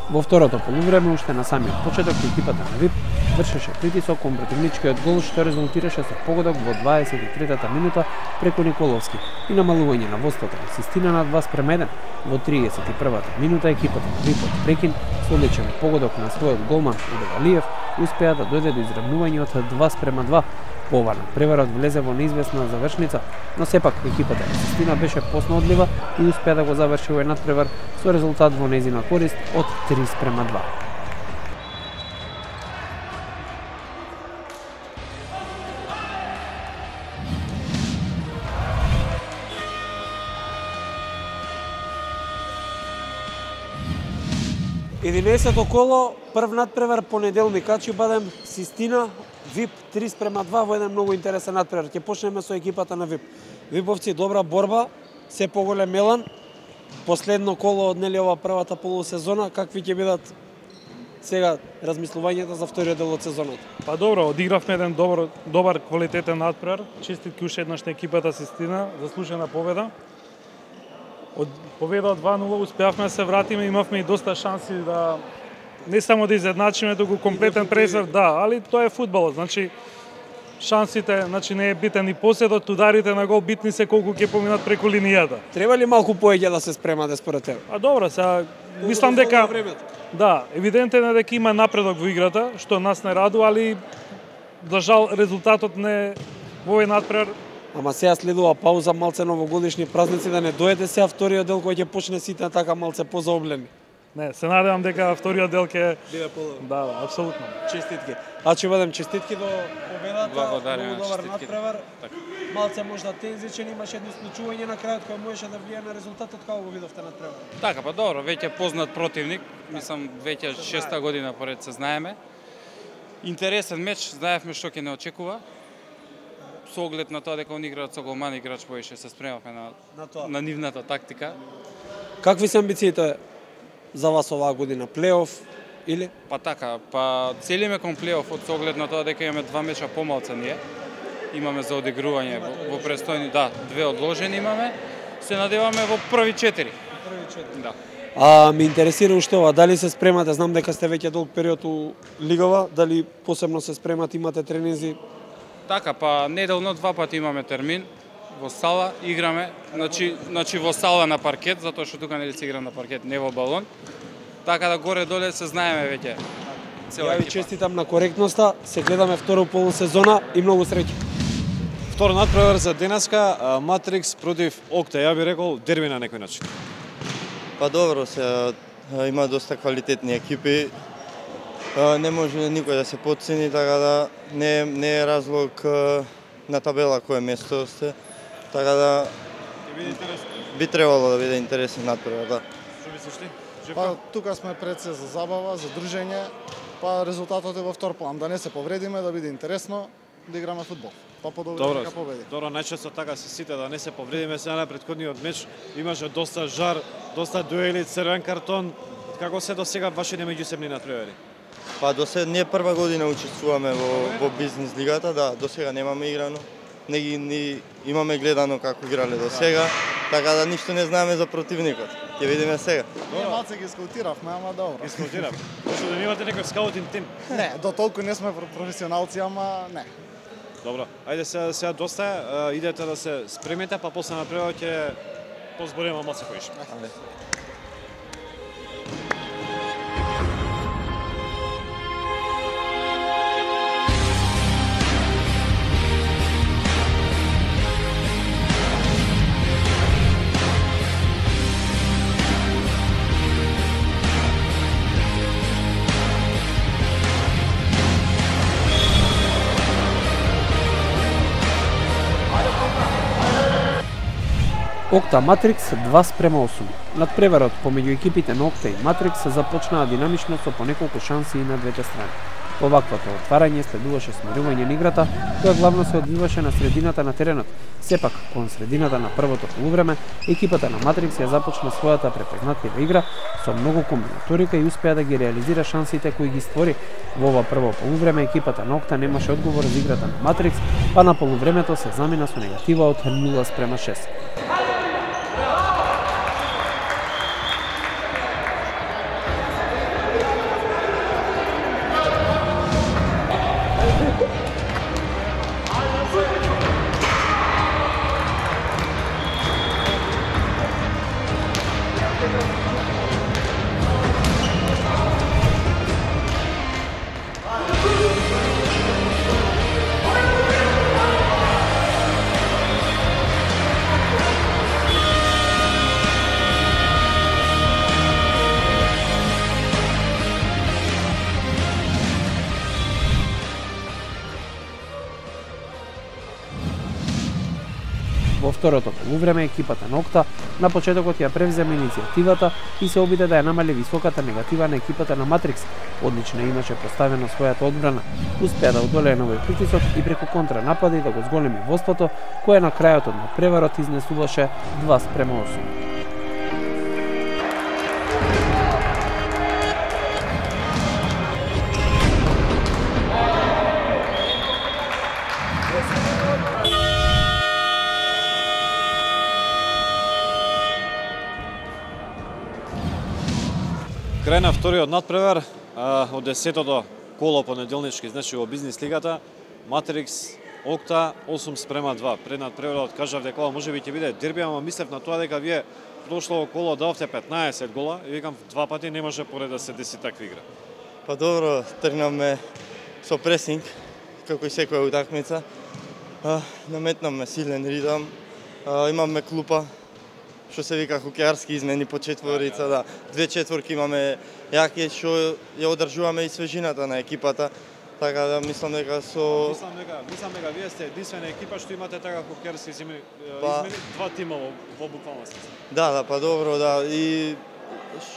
Во второто полувреме уште на самиот почеток екипата на ВИП вршеше притисок кон противничкиот гол што резултираше со погодок во дваесет и третата минута преку Николовски и намалување на водството на Систина на два спрема еден. Во триесет и првата минута екипата на ВИП од прекин со одличен погодок на својот голман Удевалиев успеа да дојде до изравнување од два спрема два. Поварно преварот влезе во неизвестна завршница, но сепак екипата на Систина беше поснаодлива и успеа да го заврши овој надпревар со резултат во нејзина корист од три спрема два. единаесетто коло, прв надпревар понеделник, Ачибадем Систина ВИП три спрема два во еден многу интересен натпревар. Ќе почнеме со екипата на ВИП. ВИПовци добра борба, се поголем елан. Последно коло од нели ова првата полусезона, какви ќе бидат сега размислувањата за вториот дел од сезоната? Па добро, одигравме еден добар, добар квалитетен натпревар. Честитки уште еднаш на екипата Систина, заслужена победа. Од победа од два нула успеавме да се вратиме, имавме и доста шанси да не само да изедначиме, туку комплетен пресвр, да, али тоа е фудбалот, значи шансите, значи не е битен и поседот, ударите на гол битни се колку ќе поминат преку линијата. Треба ли малку поеќе да се спремате според тебе? А добро, сега мислам дека да, евидентен е дека има напредок во играта, што нас не радува, али за жал резултатот не во овој натпревар. Ама сега следува пауза, малце новогодишни празници, да не дојде сега вториот дел кој ќе почне сите така малце позаоблени. Не, се надевам дека вториот дел ќе биде подобро. Да, апсолутно. Честитки. А ќе бидем честитки до победата. Благодарам, многу добар честитки. натпревар. Малце можда тензичен, имаше едно случување на крајот кој можеше да влијае на резултатот, како го видовте натпревар? Така, па добро, веќе познат противник, мислам веќе шеста година поред се знаеме. Интересен меч, знаевме што ќе не очекува. Со оглед на тоа дека он играат со голман играч, поише се спремавме на, На тоа. на нивната тактика. Какви се амбициите за вас оваа година? Плейоф или? Па така, па целиме кон плейофот со оглед на тоа дека имаме два меча помалце ние. Имаме за одигрување во, во престојни, да, две одложени имаме. Се надеваме во први четири. Први четири. Да. А ме интересира уште ова, дали се спремате, знам дека сте веќе долг период у лигава, дали посебно се спремате, имате тренинзи? Така, па неделно два пати имаме термин во сала, играме, значи, значи во сала на паркет, затоа што тука нели се игра на паркет, не во балон. Така да горе-доле се знаеме веќе. Цела Ја ви екипа. честитам на коректноста, се гледаме второ полусезона и многу среќа. Втор натпревар за денеска, Матрикс против Окта, ја би рекол дерби на некој начин. Па добро, се има доста квалитетни екипи. Не може никој да се потцени, така да не, не е разлог на табела кое место сте. Така да би требало да биде интересен натпревар, да. Што мислиш ти? Па тука сме пред се за забава, за дружење, па резултатот е во втор план, да не се повредиме, да биде интересно, да играме фудбал. Па подобро Добро, дека победи. добро, најчесто така се сите да не се повредиме. Сега на претходниот меч имаше доста жар, доста дуели, црвен картон. Како се до сега вашите меѓусебни натпревари? Па до се не прва година учествуваме во, во бизнес лигата, да, до сега немаме играно. Не ги ни имаме гледано како играле до сега, така да ништо не знаеме за противникот. Ќе видиме сега. Ние малце ги скаутиравме, ама добро. Ги скаутирам. Што да имате некој скаутинг тим? Не, до толку не сме професионалци, ама не. Добро. Ајде сега, сега доста е, идете да се спремете, па после напревар ќе позбориме малце поише. Окта Матрикс два спрема осум. Надпреварот помеѓу екипите на Окта и Матрикс се започнаа динамично со по неколку шанси и на двете страни. Оваквото отварање следуваше смирување на играта, која главно се одвиваше на средината на теренот. Сепак, кон средината на првото полувреме, екипата на Матрикс ја започна својата препознатлива игра со многу комбинаторика и успеа да ги реализира шансите кои ги створи. Во ова прво полувреме екипата на Окта немаше одговор за играта на Матрикс, па на полувремето се замина со негатива од нула спрема шест. второто полувреме екипата на Окта на почетокот ја превземе иницијативата и се обиде да ја намали високата негатива на екипата на Матрикс. Одлично имаше поставено својата одбрана. Успеа да одолее на овој притисок и преку контранапади да го зголеми водството, кое на крајот од надпреварот изнесуваше два спрема осум. Крај на вториот надпревар од десетото коло понеделнички, значи во бизнис лигата, Матрикс Окта осум спрема два. Пред надпреварот кажав дека ова можеби ќе биде дерби, ама мислев на тоа дека вие прошло коло давте петнаесет гола и викам два пати не може поред да се деси таква игра. Па добро, тргнаме со пресинг, како и секоја утакмица. Наметнаме силен ритам, имаме клупа, што се вика хокеарски измени по четворица, да. Две четворки имаме јаки, што ја одржуваме и свежината на екипата. Така да мислам дека со Мислам дека, мислам дека вие сте единствена екипа што имате така хокеарски измени, Па... измени два тима во, во буквална смисла. Да, да, па добро, да. И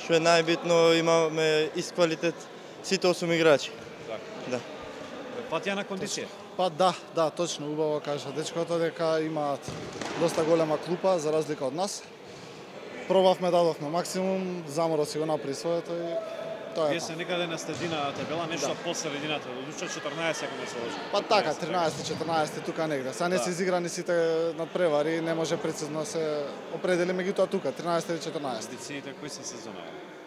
што е најбитно, имаме ист квалитет сите осум играчи. Така. Да. Патија на кондиција. Па да, да, точно, убаво кажа дечкото дека имаат доста голема клупа за разлика од нас. Пробавме, дадовме максимум, Заморо си го направи своето и тоа е. Вие се некаде на средина табела, нешто да. По средината, додуша четрнаесет ако не се лажам. Па така, тринаесет четрнаесет тука негде. Са не да. Се изиграни сите надпревари, не може прецизно се определи меѓутоа тука, тринаесет или четрнаесет. Амбициите кои се сезона?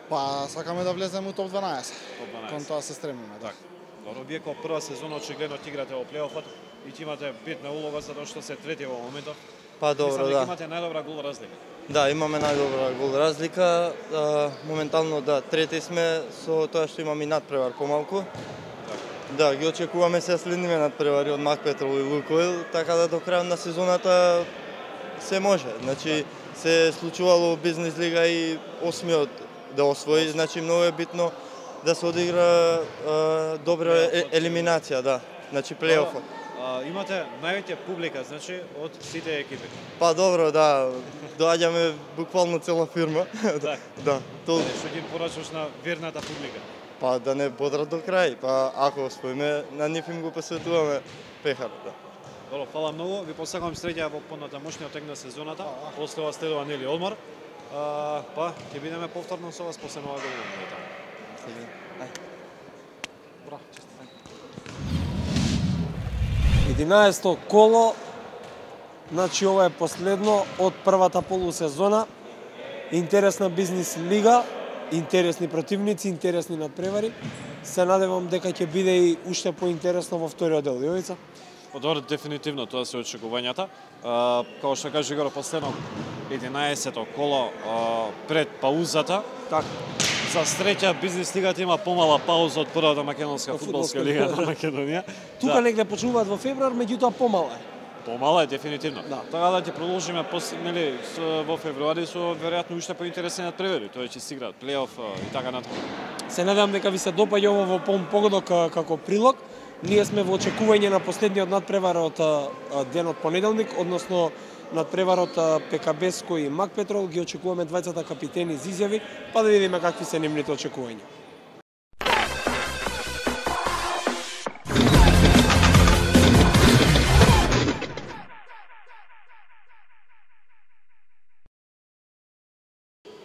Па сакаме да влеземе у топ дванаесет. Топ дванаесет. Кон тоа се стремиме, да. Так. Добро, вие како прва сезона очигледно ќе играте во плейофот и ќе имате битна улога затоа што се трети во моментот. Па добро, да. Имате најдобра гол разлика. Да, имаме најдобра гол разлика. А, моментално да, трети сме со тоа што имаме и надпревар помалку. Так. Да, ги очекуваме се следниве надпревари од Макпетрол и Лукойл, така да до крајот на сезоната се може. Значи се случувало бизнес лига и осмиот да освои, значи многу е битно да се одигра а, добра е, елиминација, да. Значи плейофот. Имате највеќе публика, значи, од сите екипи. Па добро, да. Доаѓаме буквално цела фирма. Так. Да. То... Што ги порачуваш на верната публика? Па да не бодрат до крај. Па ако успееме, на нив им го посветуваме пехар, да. Добро, фала многу. Ви посакувам среќа во понатамошниот тек на сезоната. После ова следува нели одмор. А, па ќе бидеме повторно со вас после нова година. Браво, единаесетто коло, значи ова е последно од првата полусезона. Интересна бизнес лига, интересни противници, интересни надпревари. Се надевам дека ќе биде и уште поинтересно во вториот дел. Јовица? Добро, дефинитивно тоа се очекувањата. А, како што кажа Игор, последно единаесетто коло а, пред паузата. Така. За среќа бизнес лигата има помала пауза од првата македонска фудбалска лига на Македонија. Тука да. Негде почнуваат во февруар, меѓутоа помала е. Помала е дефинитивно. Да. Така да ќе продолжиме пос, нели во февруари со веројатно уште поинтересни надпревари. Тоа ќе се играат плейоф и така натаму. Се надевам дека ви се допаѓа ова во полн погодок како прилог. Ние сме во очекување на последниот надпревар од денот понеделник, односно надпреварот Пекабеско и Макпетрол. Ги очекуваме двајцата капитени за изјави, па да видиме какви се нивните очекувања.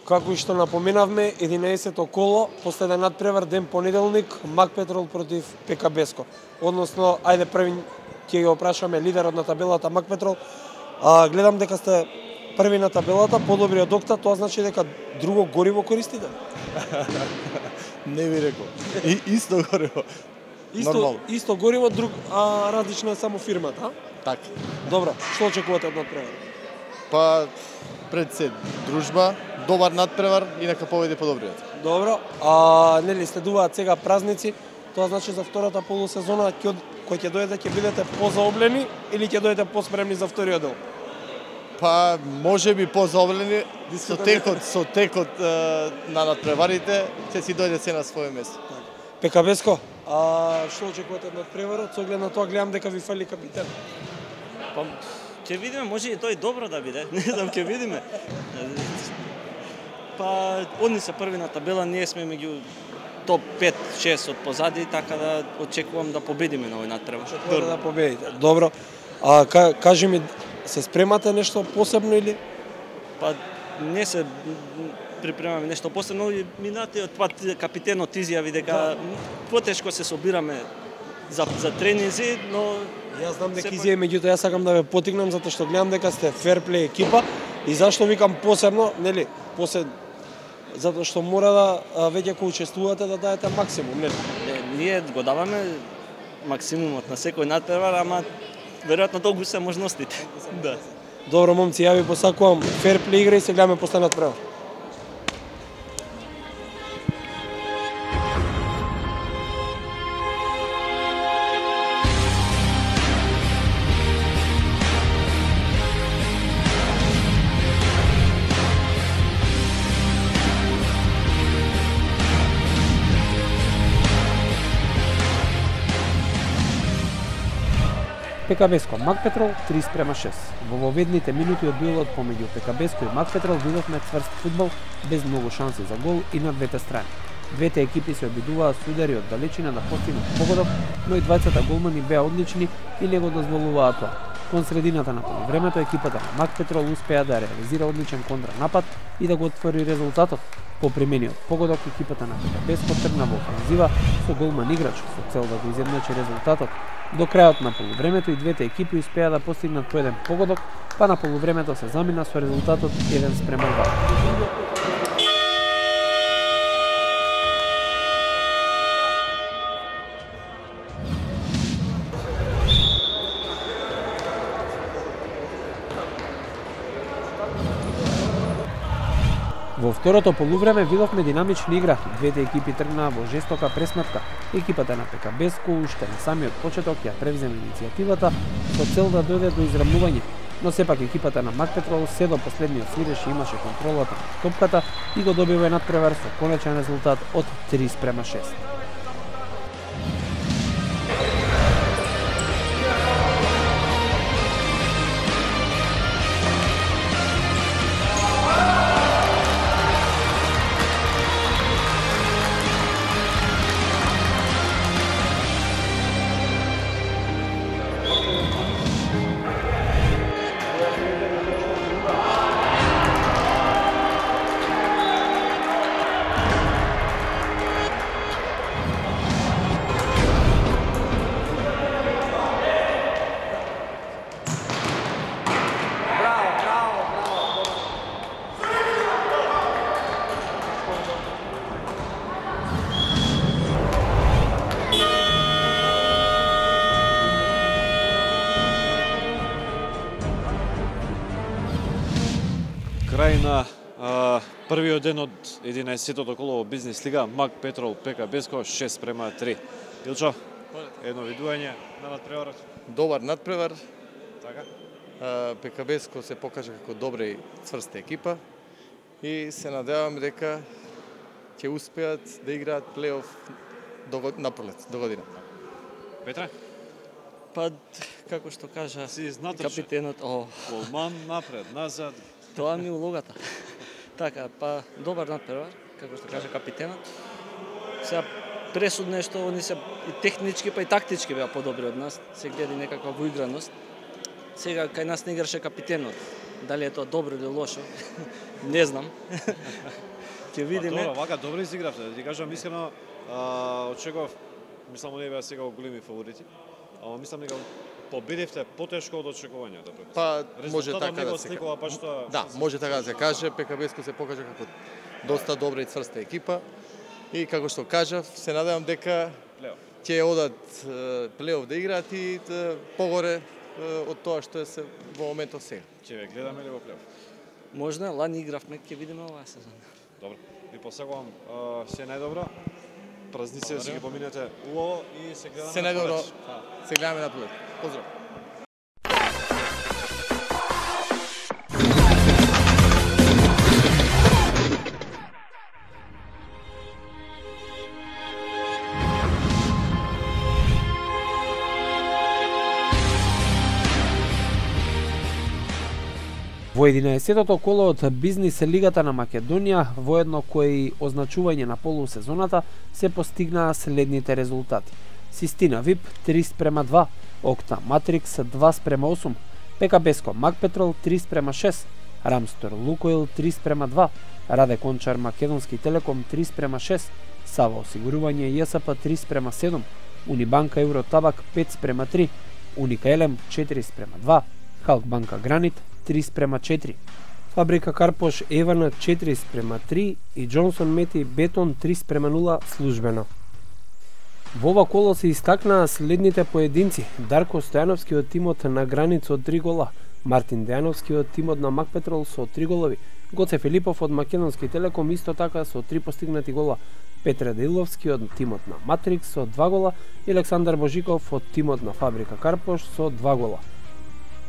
Како и што напоменавме, единаесетто коло, последен надпревар ден понеделник, Макпетрол против Пекабеско. Односно, ајде први ќе го опрашаме лидерот на табелата Макпетрол. А, гледам дека сте први на табелата, подобри од Окта, тоа значи дека друго гориво користите? Не ви рекол. И, исто гориво. Исто, Нормално. Исто гориво, друг, а различна е само фирмата, а? Така. Добро, што очекувате од надпревар? Па, пред се дружба, добар надпревар и нека победи подобриот. Добро, а нели следуваат сега празници, тоа значи за втората полусезона кој ќе дојде ќе бидете позаоблени или ќе дојдете поспремни за вториот дел? Па, може би позаоблени со текот, со текот е, на надпреварите ќе си дојде се на своје место. Пекабеско, а што очекувате од надпреварот? Со оглед на тоа гледам дека ви фали капитен. Па, Ќе видиме, може и тој добро да биде. Не знам, ќе видиме. Па, одни се први на табела, ние сме меѓу топ пет шест од позади, така да очекувам да победиме на овој натпревар. Добро да победите. Добро. А кажи ми, се спремате нешто посебно или? Па не се припремаме нешто посебно, и минатиот пат капитенот изјави дека потешко се собираме за за тренинзи, но Јас знам дека изјави, меѓутоа јас сакам да ве потикнам затоа што гледам дека сте ферплей екипа и зашто викам посебно, нели, посебно затоа што мора да веќе кога учествувате да даете максимум, нели? Не, ние го даваме максимумот на секој натпревар, ама веројатно толку се можностите. Да. Добро, момци, ја ви посакувам ферплей игра и се гледаме после натпревар. ПКБеско Мак Петрол три спрема шест. Во воведните минути од дуелот помеѓу ПКБеско и Мак Петрол видовме цврст фудбал без многу шанси за гол и на двете страни. Двете екипи се обидуваа с удари од далечина да постигнат погодок, но и двајцата голмани беа одлични и не го дозволуваа тоа. Кон средината на полувремето екипата на Мак Петрол успеа да реализира одличен контранапад и да го отвори резултатот. По примениот погодок екипата на ПКБеско тргна во офанзива со голман играч со цел да го изедначи резултатот. До крајот на полувремето и двете екипи успеа да постигнат по еден погодок, па на полувремето се замина со резултатот еден спрема два. Во второто полувреме видовме динамична игра. Двете екипи тргнаа во жестока пресметка. Екипата на ПКБеско уште на самиот почеток ја превземе иницијативата со цел да дојде до израмнување. Но сепак екипата на Мак Петрол се до последниот свиреш имаше контролата на топката и го добива натпревар со конечен резултат од три спрема шест. Крај на а, првиот ден од единаесеттото коло во Бизнес лига, Мак Петрол ПКБеско шест спрема три. Илчо, едно видување на натпреварот? Добар натпревар. Така. ПКБеско се покажа како добра и цврста екипа и се надевам дека ќе успеат да играат плейоф до на пролет, до година. Петра? Па како што кажа си капитенот, о, голман напред, назад. Тоа ми улогата. Така, па добар натпревар, како што кажа капитенот. Сега пресудно е што они се и технички па и тактички беа подобри од нас. Се гледа некаква воиграност. Сега кај нас не играше капитенот. Дали е тоа добро или лошо? Не знам. Ќе видиме. Добро, вака добро изигравте. Да ти кажам искрено, очекував, мислам оние беа сега големи фаворити. Ама мислам дека победивте потешко од очекувањата. Па може така да се сликува, па што... Да, може така да се каже, ПКБеско се покажа како доста добра и цврста екипа и како што кажав, се надевам дека ќе одат плейоф да играат и погоре од тоа што е се во моментот сега. Ќе ве гледаме ли во плейоф? Можна, лани игравме, ќе видиме оваа сезона. Добро, ви посакувам се најдобро. Празници да си ги поминете убаво и се гледаме се најдобро. Се гледаме на пролет. Поздрав. единаесеттото коло од Бизнис лигата на Македонија, воедно кој и означување на полусезоната, се постигнаа следните резултати. Систина ВИП три спрема два, Окта Матрикс два спрема осум, ПКБеско Макпетрол три спрема шест, Рамстор Лукоил три спрема два, Раде Кончар Македонски Телеком три спрема шест, Сава Осигурување ЈСП три спрема седум, Унибанка Евротабак пет спрема три, Уника Елем четири спрема два, Халкбанка Гранит три спрема четири, Фабрика Карпош Евана четири спрема три и Джонсон Мети Бетон три спрема нула службено. Во ова коло се истакнаа следните поединци: Дарко Стојановски од тимот на Гранит со три гола, Мартин Дејановски од тимот на Макпетрол со три голови, Гоце Филипов од Македонски Телеком исто така со три постигнати гола, Петре Деиловски од тимот на Матрикс со два гола и Александар Божиков од тимот на Фабрика Карпош со два гола.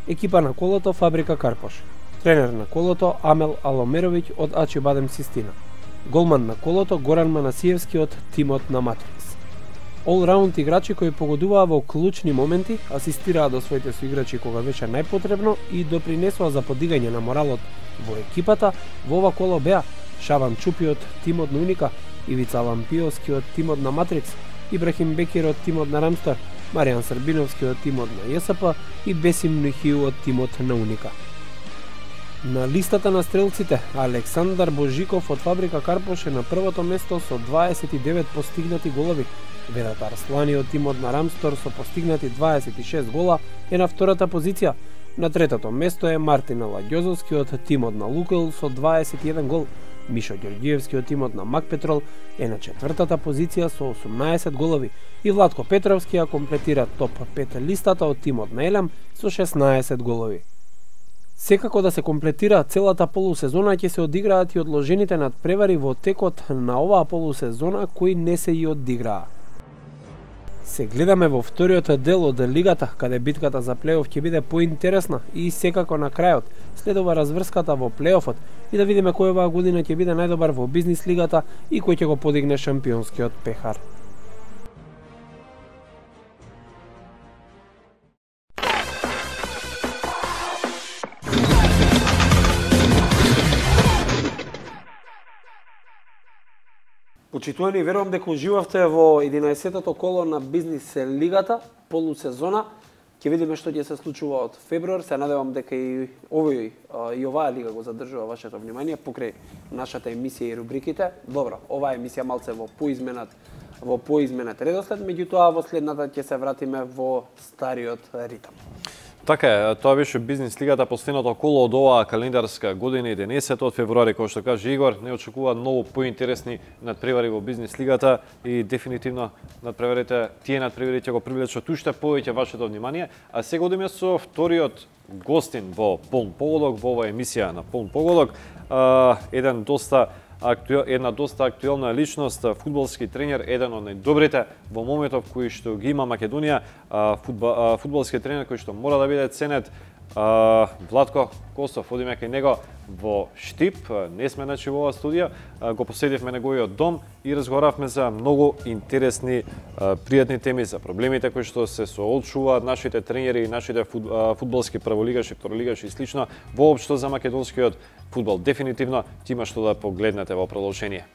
Екипа на колото Фабрика Карпош. Тренер на колото Амел Аломеровиќ од Ачи Бадем Систина. Голман на колото Горан Манасиевски од тимот на Матрикс. All-раунд играчи кои погодуваа во клучни моменти, асистираа до своите соиграчи кога беше најпотребно и допринесоа за подигање на моралот во екипата. Во ова коло беа Шабан Чупи од тимот на Уника, Ивица Лампиовски од тимот на Матрикс, Ибрахим Бекир од тимот на Рамстар, Маријан Србиновски од тимот на ЈСП и Бесим Нухиу од тимот на Уника. На листата на стрелците, Александар Божиков од Фабрика Карпош е на првото место со дваесет и девет постигнати голови. Ведат Арслани од тимот на Рамстор со постигнати дваесет и шест гола е на втората позиција. На третото место е Мартин Лагјозовски од тимот на Лукоил со дваесет и еден гол. Мишо Ѓорѓиевски од тимот на Макпетрол е на четвртата позиција со осумнаесет голови и Владко Петровски ја комплетира топ пет листата од тимот на Елем со шеснаесет голови. Секако да се комплетира целата полусезона ќе се одиграат и одложените надпревари во текот на оваа полусезона кои не се и одиграа. Се гледаме во вториот дел од лигата, каде битката за плейоф ќе биде поинтересна и секако на крајот следува разврската во плейофот и да видиме кој оваа година ќе биде најдобар во бизнис лигата и кој ќе го подигне шампионскиот пехар. Почитувани, верувам дека уживавте во единаесеттото коло на бизнис лигата, полусезона. Ќе видиме што ќе се случува од февруар. Се надевам дека и овој и оваа лига го задржува вашето внимание покрај нашата емисија и рубриките. Добро, оваа емисија малце во поизменат во поизменат редослед, меѓутоа во следната ќе се вратиме во стариот ритам. Така е, тоа беше бизнис лигата, последното коло од оваа календарска година, единесет од февруари, кој што каже Игор, не очекува многу поинтересни надпревари во бизнис лигата и дефинитивно надпреварите, тие надпревари ќе го привлечат уште повеќе вашето внимание, а сега одиме со вториот гостин во Полн погодок, во оваа емисија на Полн погодок, еден доста Актуел, една доста актуелна личност, фудбалски тренер, еден од најдобрите во моментов кои што ги има Македонија, фудбал, фудбалски тренер кој што мора да биде ценет. Владко Костов, одиме кај него во Штип, не сме значи во оваа студија, го посетивме неговиот дом и разговаравме за многу интересни пријатни теми, за проблемите кои што се соочуваат нашите тренери и нашите фудбалски прволигаши, второлигаши и слично, воопшто за македонскиот фудбал. Дефинитивно има што да погледнете во продолжение.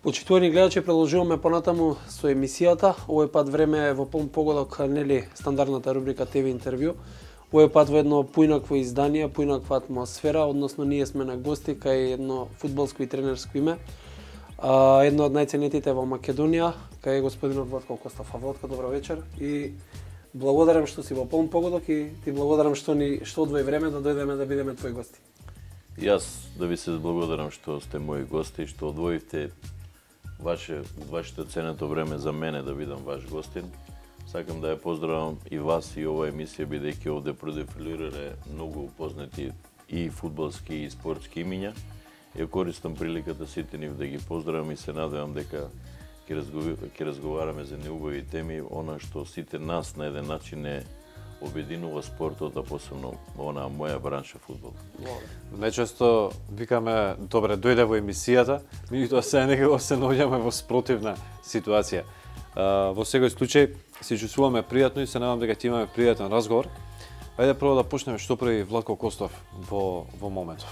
Почитувани гледачи, продолжуваме понатаму со емисијата. Овој пат време е во Полн погодок, нели стандардната рубрика Т В интервју. Овој пат во едно поинакво издание, поинаква атмосфера, односно ние сме на гости кај едно фудбалско и тренерско име. А, едно од најценетите во Македонија, кај господинот Владко Костов. Владко, добро вечер и благодарам што си во Полн погодок и ти благодарам што ни што одвои време да дојдеме да бидеме твои гости. Јас да ви се благодарам што сте мои гости, што одвоивте ваше вашето ценето време за мене да бидам ваш гостин. Сакам да ја поздравам и вас и оваа емисија, бидејќи овде продефилирале многу познати и фудбалски и спортски имиња. Ја користам приликата сите нив да ги поздравам и се надевам дека ќе разговараме за неубави теми, она што сите нас на еден начин е обединува спортот, а посебно она моја бранша фудбал. Најчесто викаме, добре, дојде во емисијата, меѓутоа се некако се наоѓаме во спротивна ситуација. Во секој случај се чувствуваме пријатно и се надам дека ќе имаме пријатен разговор. Ајде прво да почнеме што прави Владко Костов во во моментов.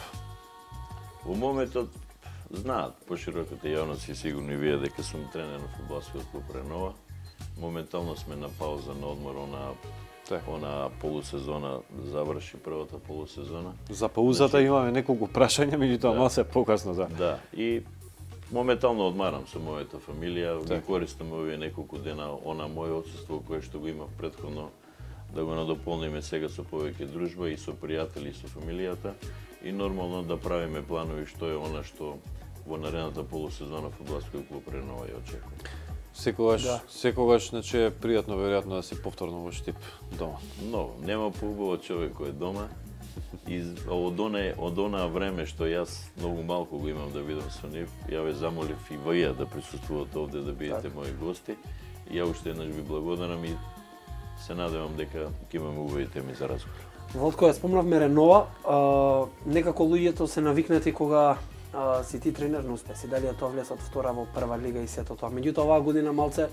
Во моментот знаат пошироката јавност и сигурно и вие дека сум тренер на фудбалскиот клуб Ренова. Моментално сме на пауза, на одмор, она она полусезона заврши првата полусезона. За паузата значи, имаме неколку прашања, меѓутоа да. Малце покасно, да. Да, и моментално одмарам со мојата фамилија, ги користам овие неколку дена она моје отсуство кое што го имав претходно, да го надополниме сега со повеќе дружба и со пријатели и со фамилијата и нормално да правиме планови што е она што во наредната полусезона фудбалскиот клуб Ренова ја очекува. Секогаш, да. секогаш значи е пријатно веројатно да си повторно во Штип дома. Но, нема поубаво човек кој е дома. И од она од она време што јас многу малку го имам да видам со нив, ја ве замолив и вие да присуствувате овде да бидете мои гости. И ја уште еднаш ви благодарам и се надевам дека ќе имаме убави теми за разговор. Владко, ја спомнавме Ренова, а, некако луѓето се навикнати кога а, си ти тренер на успеси, дали тоа влезат втора во прва лига и сето тоа. Меѓутоа оваа година малце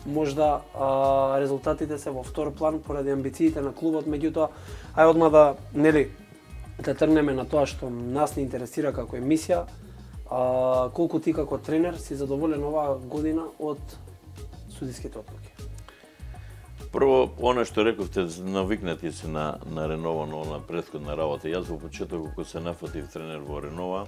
можда а, резултатите се во втор план поради амбициите на клубот, меѓутоа ај одма да нели да тргнеме на тоа што нас не интересира како емисија. А, колку ти како тренер си задоволен оваа година од судиските одлуки? Прво, она што рековте, навикнати се на, на Ренова, на она претходна работа. Јас во почеток, кога се нафатив тренер во Ренова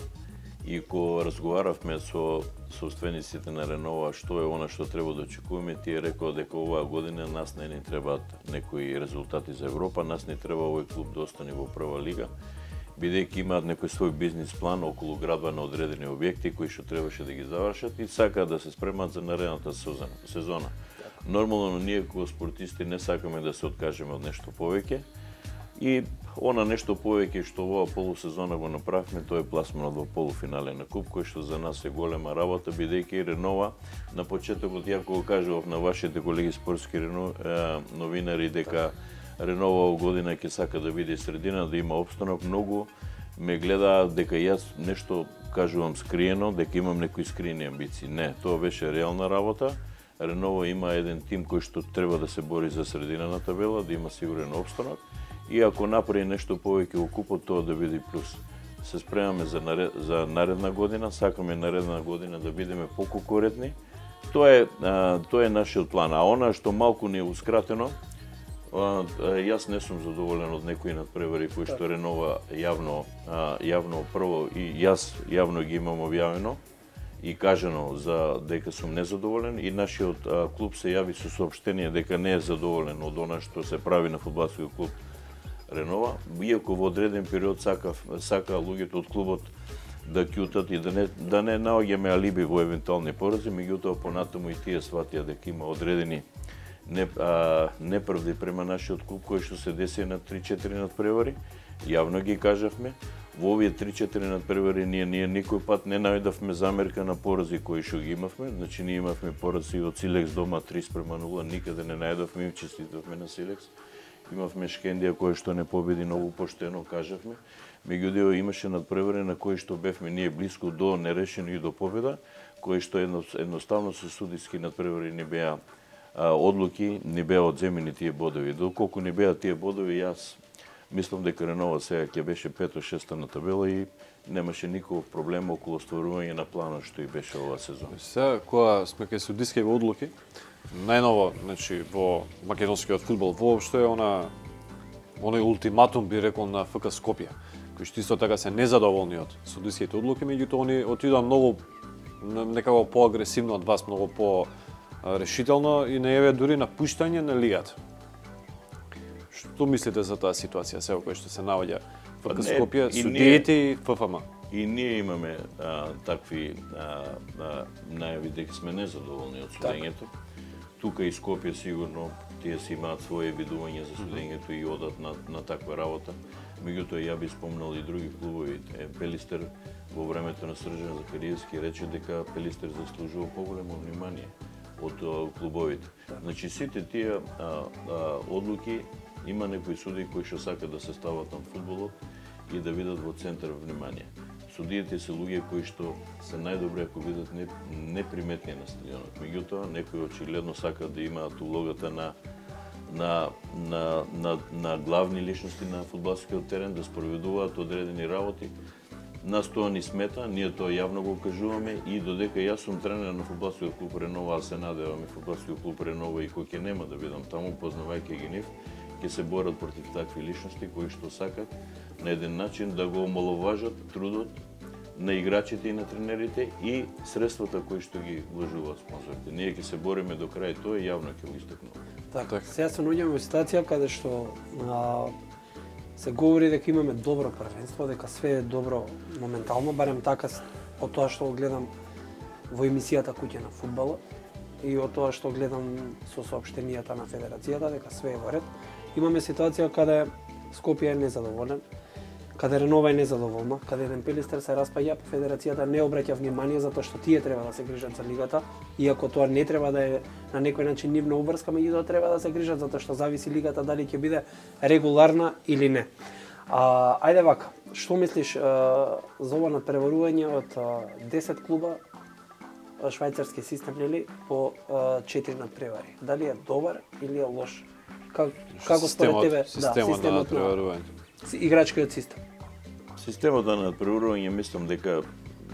и кога разговаравме со собствениците на Ренова што е она што треба да очекуваме, тие рекоа дека оваа година нас не ни требаат некои резултати за Европа, нас не треба овој клуб да остане во прва лига, бидејќи имаат некој свој бизнис план околу градба на одредени објекти кои што требаше да ги завршат и сакаат да се спремат за наредната сезона. Нормално, ние како спортисти не сакаме да се откажеме од нешто повеќе и она нешто повеќе што оваа полусезона го направивме, тоа е пласманот во полуфинале на куп, кој што за нас е голема работа, бидејќи Ренова на почетокот ја кога кажував на вашите колеги спортски новинари дека Ренова година ќе сака да биде средина, да има опстанок, многу ме гледаат дека јас нешто кажувам скриено, дека имам некои скриени амбиции. Не, тоа беше реална работа. Ренова има еден тим кој што треба да се бори за средина на табела, да има сигурен опстанок и ако направи нешто повеќе во купот, тоа да биде плюс. Се спремаме за, наред, за наредна година, сакаме наредна година да бидеме поконкурентни. Тоа е, а, тоа е нашиот план. А она што малку ни е ускратено, а, јас не сум задоволен од некои надпревари кои што Ренова јавно, а, јавно прво и јас јавно ги имам објавено и кажано за дека сум незадоволен и нашиот а, клуб се јави со соопштение дека не е задоволен од она што се прави на фудбалскиот клуб Ренова, иако во одреден период сака сака луѓето од клубот да ќутат и да не да не наоѓаме алиби во евентуални порази, меѓутоа понатаму и тие сватија дека има одредени не, а, неправди према нашиот клуб кои што се деси на три-четири надпревари. Јавно ги кажавме. Во овие три-четири надпревари ние ние никој пат не најдовме замерка на порази кои што ги имавме. Значи ние имавме порази од Силекс дома три спрема нула, никаде не најдовме, им честитавме на Силекс. Имавме Шкендија кој што не победи многу поштено, кажавме. Меѓутоа имаше надпревари на кои што бевме ние блиску до нерешено и до победа, кои што едно, едноставно со судиски надпревари не беа а, одлуки, не беа одземени тие бодови. Доколку не беа тие бодови, јас мислам дека Ренова сега ќе беше пето-шеста на табела и немаше никаков проблем околу остварување на планот што и беше оваа сезона. Сега кога сме кај судиските одлуки, најново, значи во македонскиот фудбал воопшто е она оној ултиматум би рекол на ФК Скопје, кои што исто така се незадоволни од судиските одлуки, меѓутоа они отидоа многу некако поагресивно од вас, многу по решително и најавија дури напуштање на лигата. Што мислите за таа ситуација сега која што се наоѓа ФК Скопје, судиите и ФФМ? И ние имаме а, такви а, а, најави дека сме незадоволни од судењето. Так. Тука и Скопје сигурно тие си имаат своје видување за судењето и одат на, на таква работа. Меѓутоа ја би спомнал и други клубови. Пелистер во времето на Срđan Захариевски рече дека Пелистер заслужува поголемо внимание од а, клубовите. Значи сите тие а, а, одлуки Има некои судии кои што сакаат да се стават на фудбалот и да видат во центар внимание. Судиите се луѓе кои што се најдобри ако бидат неприметни на стадионот. Меѓутоа, некои очигледно сакаат да имаат улогата на на на на на главни личности на фудбалскиот терен, да спроведуваат одредени работи. Нас тоа ни смета, ние тоа јавно го кажуваме и додека јас сум тренер на фудбалскиот клуб Ренова, а се надевам и фудбалскиот клуб Ренова и кој ќе нема да бидам таму, познавајќи ги нив, ќе се борат против такви личности кои што сакат на еден начин да го омаловажат трудот на играчите и на тренерите и средствата кои што ги вложуваат спонзорите. Ние ќе се бориме до крај тоа и јавно ќе го истакнуваме. Така, сега се наоѓаме во ситуација каде што а, се говори дека имаме добро првенство, дека све е добро моментално, барем така од тоа што гледам во емисијата Куќа на фудбалот и од тоа што гледам со соопштенијата на федерацијата дека све е во ред. Имаме ситуација каде Скопје е незадоволен, каде Ренова е незадоволна, каде еден Пелистер се распаѓа, федерацијата не обраќа внимание затоа што тие треба да се грижат за лигата, иако тоа не треба да е на некој начин нивна обврска, меѓутоа треба да се грижат затоа што зависи лигата дали ќе биде регуларна или не. А, ајде вака, што мислиш а, за ова надпреварување од а, десет клуба швајцарски систем, нели, по а, четири надпревари? Дали е добар или е лош? Как, како според тебе, системот, да, системот на надпреварување? Играчкиот систем. Системот на надпреварување мислам дека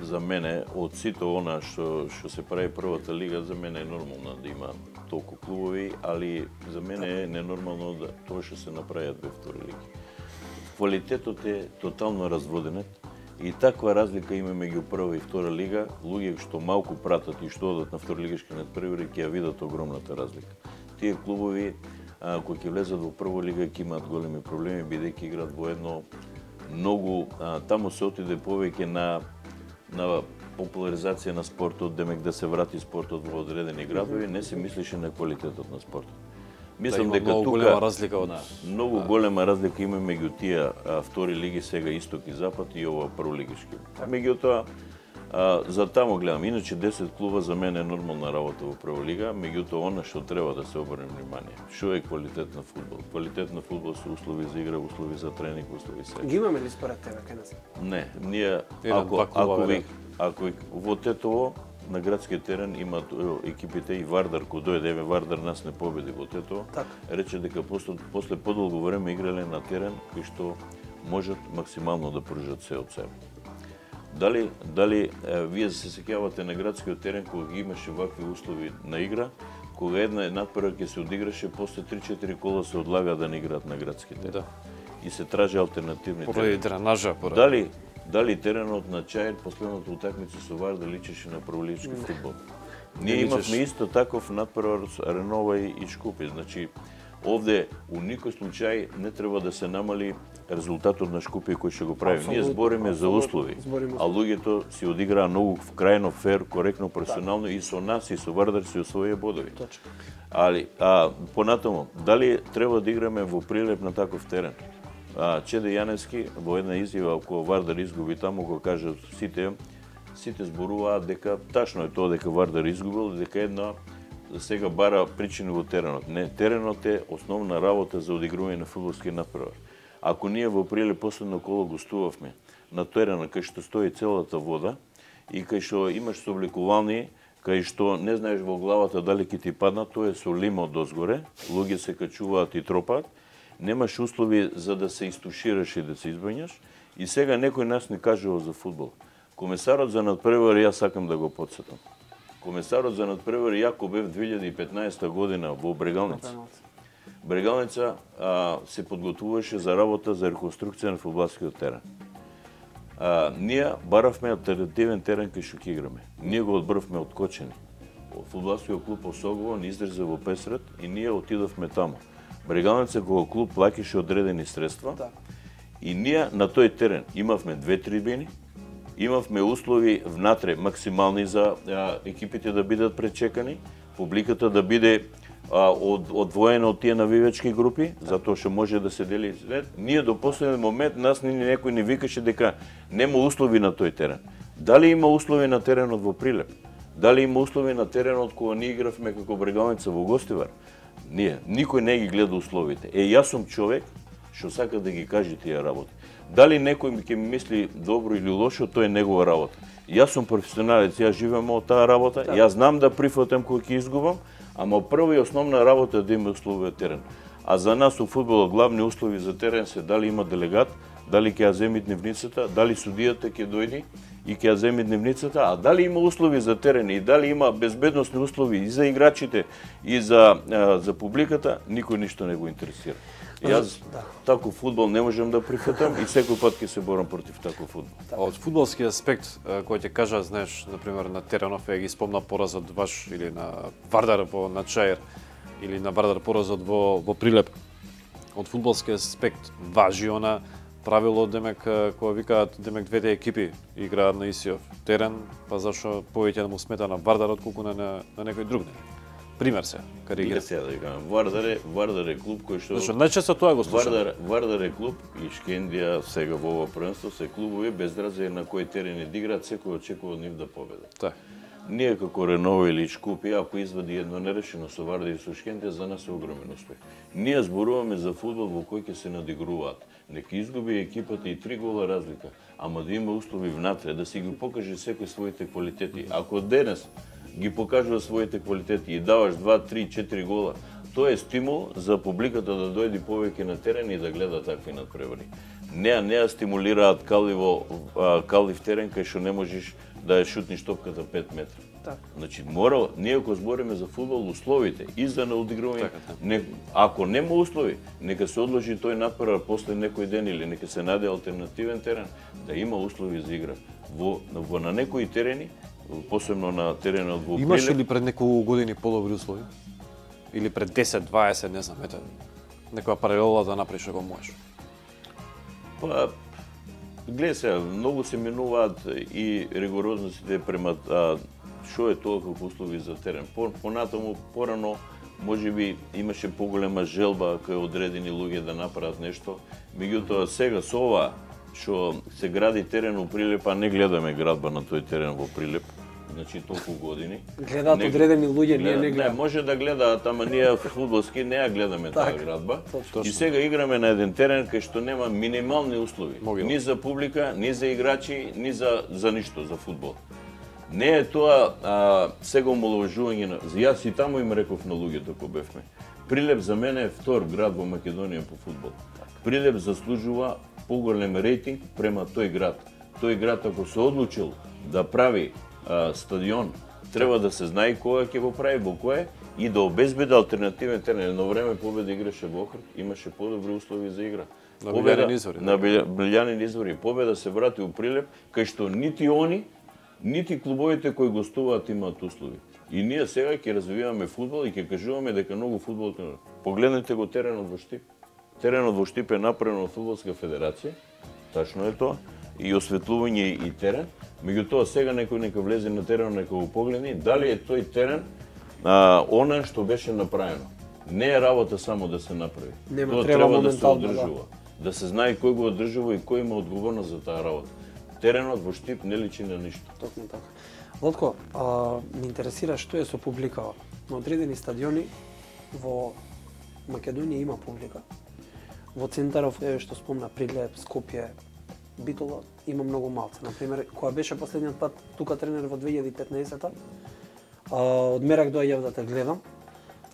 за мене од сите она што што се прави првата лига, за мене е нормално да има толку клубови, али за мене е ненормално да тоа што се направиат во втори лиги. Квалитетот е тотално разводен и таква разлика има меѓу прва и втора лига. Луѓе што малку пратат и што одат на второлигашки надпревари ќе ја видат огромната разлика. Тие клубови а, кои ќе влезат во прва лига ќе имаат големи проблеми бидејќи играат во едно многу а, таму се отиде повеќе на на популаризација на спортот, демек да се врати спортот во одредени градови, не се мислише на квалитетот на спортот. Мислам да, дека многу тука голема разлика од многу голема разлика има меѓу тие а, втори лиги сега исток и запад и ова прволигишки. Меѓутоа а, за таму гледам, иначе десет клуба за мене е нормална работа во прва лига, меѓутоа она што треба да се обрне внимание. Што е квалитет на фудбал? Квалитет на фудбал се услови за игра, услови за тренинг, услови се. Ги имаме ли според тебе кај нас? Не, ние ако ако ви ако во Тетово на градскиот терен имаат екипите и Вардар, кој дојде, еве Вардар нас не победи во Тетово, рече дека после, после подолго време играле на терен кој што можат максимално да пружат се од себе. Дали дали е, вие се сеќавате на градскиот терен кога ги имаше вакви услови на игра, кога една надпрва ќе се одиграше, после три-четири кола се одлага да не играат на градски терен. Да. И се тражи алтернативни терени. Поради дренажа, поради. Дали дали теренот на Чаир последната утакмица со Вардар личеше на прволигашки фудбал? Ние имавме исто таков надпревар Ренова и, и Шкупи. Значи, овде у никој случај не треба да се намали резултатот на Шкупи кој ќе го прави. Ние збориме за услови, а луѓето си одиграа многу крајно фер, коректно, професионално и со нас и со Вардар си освоија бодови. Точно. Али, а понатаму, дали треба да играме во Прилеп на таков терен? А, Чеде Јаневски во една изјава кога Вардар изгуби таму го кажа сите сите зборуваат дека тачно е тоа дека Вардар изгубил и дека една сега бара причини во теренот. Не, теренот е основна работа за одигрување на фудбалски надпревар. Ако ние во Прилеп последно коло гостувавме на теренот кај што стои целата вода и кај што имаш собликувални, кај што не знаеш во главата дали ќе ти падна, тоа е со лимо дозгоре, луѓе се качуваат и тропаат, немаш услови за да се истушираш и да се избањаш. И сега некој нас не кажува за фудбал. Комесарот за надпревари, јас сакам да го потсетам. Комесарот за надпревари јако бев две илјади и петнаесета година во Брегалница. Брегалница а, се подготвуваше за работа за реконструкција на фудбалскиот терен. А, ние баравме алтернативен терен кај што ќе играме. Ние го одбрвме од Кочени. Фудбалскиот клуб Осогово ни издржа во Песрет и ние отидовме таму. Брегалница кога клуб плаќаше одредени средства, да. И ние на тој терен имавме две трибини, имавме услови внатре максимални за а, екипите да бидат пречекани, публиката да биде а, од, одвоена од тие навивачки групи, затоа што може да се дели. Ние до последен момент нас ни некој не викаше дека нема услови на тој терен. Дали има услови на теренот во Прилеп? Дали има услови на теренот кога ние игравме како Брегалница во Гостивар? Ние, никој не ги гледа условите. Е, јас сум човек што сака да ги каже тие работи. Дали некој ќе ми мисли добро или лошо, тоа е негова работа. Јас сум професионалец, јас живеам од таа работа, да. Јас знам да прифатам кога ќе изгубам, ама прва и основна работа е да има услови терен. А за нас у фудбалот главни услови за терен се дали има делегат, дали ќе ја земи дневницата, дали судијата ќе дојде и ќе ја земи дневницата, а дали има услови за терен и дали има безбедносни услови и за играчите и за за публиката, никој ништо не го интересира. Јас да. Таков фудбал не можам да прифатам и секој пат ќе се борам против таков фудбал. Од фудбалски аспект, кој ќе кажа, знаеш, на пример на теренов, ја ги спомна поразот ваш или на Вардар во на Чаир или на Вардар поразот во во Прилеп. Од фудбалски аспект важи она правило, демек, кога викаат, демек двете екипи играат на исиов терен, па зашо повеќе да му смета на Вардар отколку на, на, на некој друг. Пример се, каригира. Сега да кажам, Вардар е, Вардар е клуб кој што... Зашо најчесто тоа го слушам. Вардар, Вардар е клуб и Шкендија сега во ова првенство се клубови без разлика на кој терен да играат, секој очекува од нив да победи. Така. Ние како Реново или Шкупи, ако извади едно нерешено со Вардар и со Шкендија, за нас е огромен успех. Ние зборуваме за фудбал во кој ќе се надигруваат. Нека изгуби екипата и три гола разлика, ама да има услови внатре, да си ги покаже секој своите квалитети. Ако денес ги покажува своите квалитети и даваш два, три, четири гола, тоа е стимул за публиката да дојде повеќе на терен и да гледа такви надпревари. Не, не ја стимулираат каливо, калив терен кај што не можеш да ја шутниш топката пет метра. Так. Значи, мора, ние ако збориме за фудбал, условите и за наодигрување, така, така. не, ако нема услови, нека се одложи тој надпревар после некој ден или нека се најде алтернативен терен, да има услови за игра. Во, во на некои терени, посебно на теренот во Прилеп. Имаше ли пред неколку години подобри услови? Или пред десет, дваесет, не знам, ете, некоја паралела да направиш ако можеш? Па, гледа се, многу се минуваат и ригорозностите према а, што е тоа како услови за терен. По, понатаму, порано, можеби имаше поголема желба кај одредени луѓе да направат нешто. Меѓутоа, сега со ова што се гради терен во Прилеп, а не гледаме градба на тој терен во Прилеп, значи толку години. Гледаат не, одредени луѓе, ние не гледаме. Не, може да гледаат, ама ние фудбалски не ја гледаме таа градба. И сега играме на еден терен кај што нема минимални услови. Могило. Ни за публика, ни за играчи, ни за, за ништо, за фудбал. Не е тоа а, сега омаловажување на... Јас и таму им реков на луѓето кои бевме. Прилеп за мене е втор град во Македонија по фудбал. Прилеп заслужува поголем рейтинг према тој град. Тој град ако се одлучил да прави а, стадион, треба да се знае кога ќе го прави, во кое и да обезбеди алтернативен терен. Едно време Победа играше во Охрид, имаше подобри услови за игра. На Билјанин извори. На Билјанин извори. Победа се врати у Прилеп, кај што нити они, нити клубовите кои гостуваат имаат услови. И ние сега ќе развиваме фудбал и ќе кажуваме дека многу фудбал... Погледнете го теренот во Штип. Теренот во Штип е направен од Фудбалска федерација, тачно е тоа, и осветлување и терен. Меѓутоа сега некој нека влезе на теренот, нека го погледне дали е тој терен а, она што беше направено. Не е работа само да се направи. Нема, тоа треба, треба да се моментално, одржува. Да. да се знае кој го одржува и кој има одговорност за таа работа. Теренот во Штип не личи на ништо. Токму така. Лотко, а, ме интересира што е со публика. На одредени стадиони во Македонија има публика. Во центаров, еве што спомна, Прилеп, Скопје, Битола, има многу малце. Например, кога беше последниот пат тука тренер во две илјади и петнаесета, а, од Мерак доаѓав да те гледам,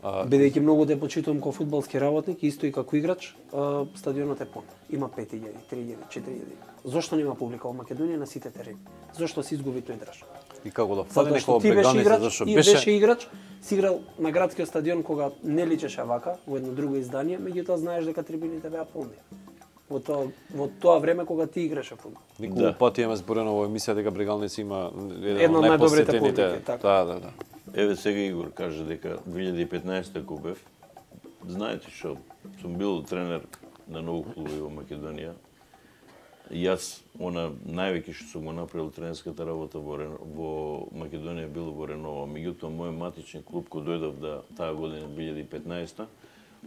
а... бидејќи многу те почитувам како фудбалски работник, исто и како играч, а, стадионот е пон. Има пет илјади, три илјади, четири илјади. Зошто нема публика во Македонија на сите терени? Зошто се изгуби тој драж? И како да фали некоја ти беше играч, зашто ти беше... беше играч, си играл на градскиот стадион кога не личеше вака, во едно друго издание, меѓутоа знаеш дека трибините беа полни. Во тоа, во тоа време кога ти играше фудбал. Неколку да. пати имаме зборено во емисија дека Брегалници има едно од најдобрите публики, така. Да, да, да. Еве сега Игор каже дека две илјади и петнаесета кога бев, знаете што, сум бил тренер на многу клубови во Македонија. Јас, она највеќе што сум го направил тренерската работа во, во Македонија било во Реново. Меѓутоа, мој матичен клуб кој дојдов да таа година две илјади и петнаесета,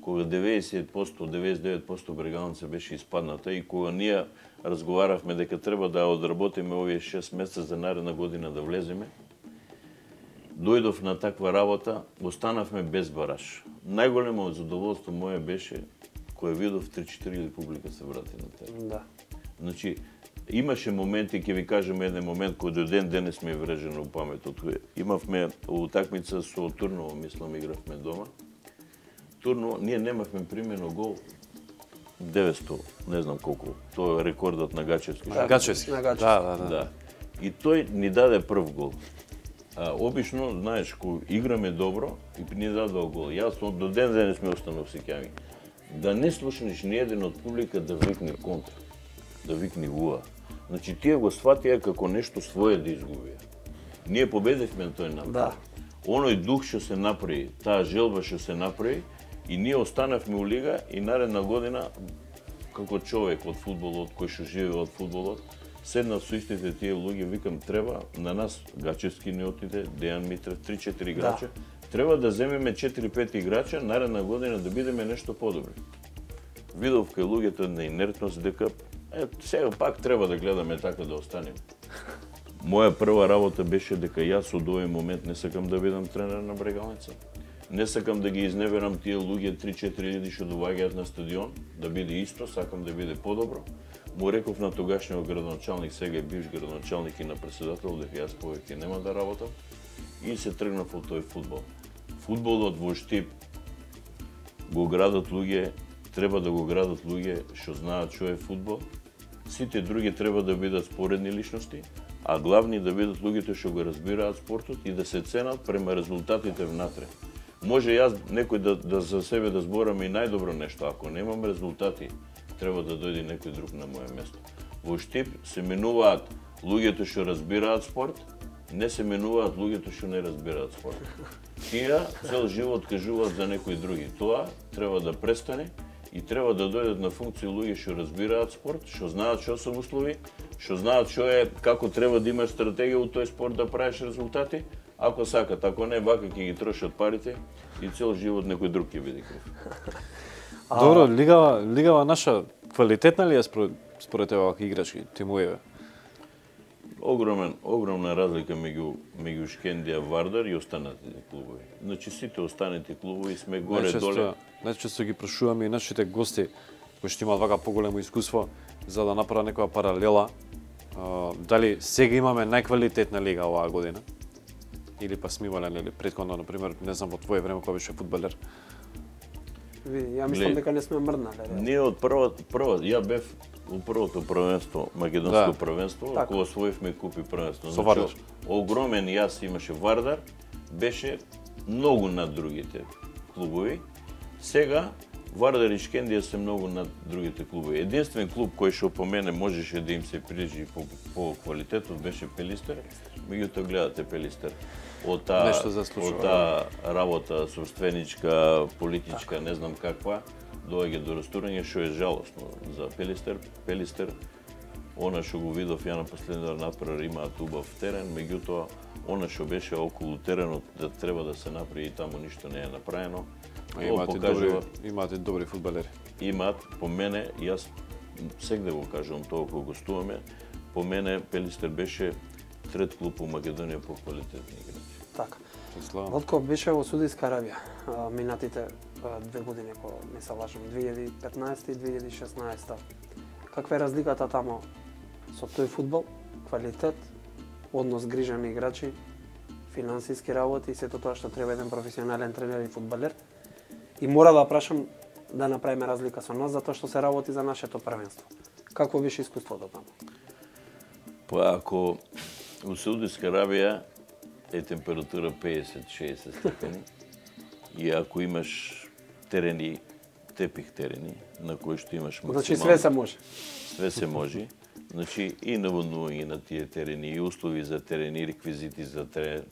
кога деветдесет проценти, деветдесет и девет проценти Брегалница беше испадната и кога ние разговаравме дека треба да одработиме овие шест месеца за наредна година да влеземе, дојдов на таква работа, останавме без бараж. Најголемо задоволство мое беше кога видов три-четири публика се врати на терен. Да. Значи, имаше моменти, ќе ви кажем еден момент кој до ден денес ми е врежено у паметот. Имавме утакмица со Турново, мислам, игравме дома. Турново, ние немавме примено гол деветсто, не знам колку. Тоа е рекордот на Гачевски. Да, Гачевски. На Гачевски. Да, да, да. Да. И тој ни даде прв гол. А, обично, знаеш, кога играме добро, и ни дадал гол. Јас до ден денес ми останав сеќави. Да не слушнеш ни еден од публика да викне контра, да викне вуа. Значи, тие го сватија како нешто свое да изгубија. Ние победивме на тој напад. Да. Оној дух што се направи, таа желба што се направи, и ние останавме у лига и наредна година, како човек од фудбалот, кој што живее од фудбалот, седнав со истите тие луѓе, викам, треба на нас, Гачевски не отиде, Дејан Митрев, три-четири играча, да. Треба да земеме четири-пет играча, наредна година да бидеме нешто подобри. Видов кај луѓето на инертност дека, е, сега пак треба да гледаме така да останеме. Моја прва работа беше дека јас од овој момент не сакам да бидам тренер на Брегалница. Не сакам да ги изневерам тие луѓе три-четири илјади што доаѓаат на стадион, да биде исто, сакам да биде подобро. Му реков на тогашниот градоначалник, сега е бивш градоначалник и на председател, дека јас повеќе нема да работам, и се тргнав од тој фудбал. Фудбалот во Штип го градат луѓе, треба да го градат луѓе што знаат што е фудбал. Сите други треба да бидат споредни личности, а главни да бидат луѓето што го разбираат спортот и да се ценат према резултатите внатре. Може јас некој да, да за себе да зборам и најдобро нешто, ако немам резултати, треба да дојде некој друг на моје место. Во Штип се менуваат луѓето што разбираат спорт, не се менуваат луѓето што не разбираат спорт. Тие цел живот кажуваат за некои други. Тоа треба да престане и треба да дојдат на функција луѓе што разбираат спорт, што знаат што се услови, што знаат што е, како треба да имаш стратегија у тој спорт да правиш резултати, ако сакат, ако не, вака ќе ги трошат парите и цел живот некој друг ќе биде крив. Добро, лигава, лигава наша квалитетна ли е според, според тебе вака играчки тимови? Огромен, огромна разлика меѓу меѓу Шкендија, Вардар и останатите клубови. Значи сите останати клубови сме горе доле. Најчесто ги прашуваме и нашите гости кои што имаат вака поголемо искуство за да направат некоја паралела. Uh, дали сега имаме најквалитетна лига оваа година? Или па сме имале нели претходно, например, не знам во твое време кога беше фудбалер? Ви, ја мислам дека не сме мрднале. Ние од прва, прва, ја бев у првото првенство, македонско да. првенство, така. Кога освоивме купи првенство. Со Вардар. Значи, огромен јас имаше Вардар, беше многу над другите клубови. Сега Вардар и Шкендија се многу над другите клубови. Единствен клуб кој што по мене можеше да им се приближи по, по квалитетот беше Пелистер. Меѓутоа гледате Пелистер. Од таа од таа работа собственичка, политичка, не знам каква, доаѓа до растурање што е жалосно за Пелистер. Пелистер, она што го видов ја на последниот напред имаат убав терен, меѓутоа она што беше околу теренот да треба да се направи и таму ништо не е направено. Имате добри, имате добри фудбалери. Имаат, по мене, јас сегде го кажувам тоа кога гостуваме, по мене Пелистер беше трет клуб у Македонија по квалитетни играчи. Така. Вотко беше во Саудиска Арабија минатите две години, ако не се лажам, две илјади и петнаесета и две илјади и шеснаесета. Каква е разликата тамо со тој фудбал, квалитет, однос грижани играчи, финансиски работи и сето тоа што треба еден професионален тренер и фудбалер? И мора да прашам да направиме разлика со нас, затоа што се работи за нашето првенство. Какво беше искуството тамо? Па ако у Саудиска Арабија е температура педесет-шеесет степени и ако имаш терени, тепих терени, на кои што имаш максимално... Значи све се може. Све се може. Значи и наводнување на тие терени, и услови за терени, и реквизити за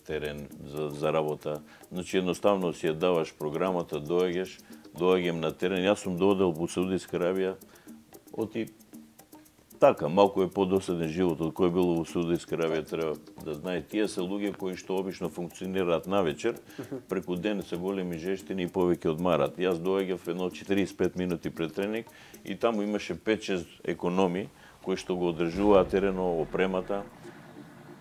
терен, за, за работа. Значи едноставно си ја даваш програмата, доаѓаш, доаѓам на терен. Јас сум доодел во Саудиска Арабија, оти така, малку е подосаден животот кој е било во Саудиска Арабија, треба да знае. Тие се луѓе кои што обично функционираат навечер, преку ден се големи жештини и повеќе одмарат. Јас доаѓав едно четириесет и пет минути пред тренинг и таму имаше пет-шест економи кои што го одржуваат терено, опремата.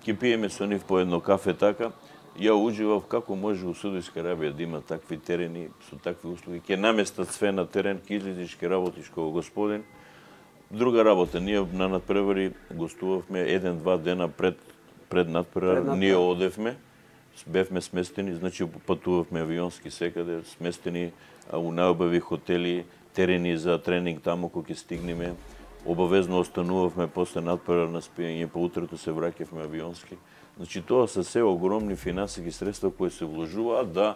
Ќе пиеме со нив по едно кафе така. Ја уживав како може у Саудиска Арабија да има такви терени со такви услови. Ќе наместат све на терен, ќе излезеш, ќе работиш како господин. Друга работа, ние на надпревари гостувавме еден-два дена пред пред надпревар, ние одевме, бевме сместени, значи патувавме авионски секаде, сместени у најубави хотели, терени за тренинг таму кога ќе стигнеме. Обавезно останувавме после надпревар на спиење, по утрото се враќавме авионски. Значи тоа се се огромни финансиски средства кои се вложуваат да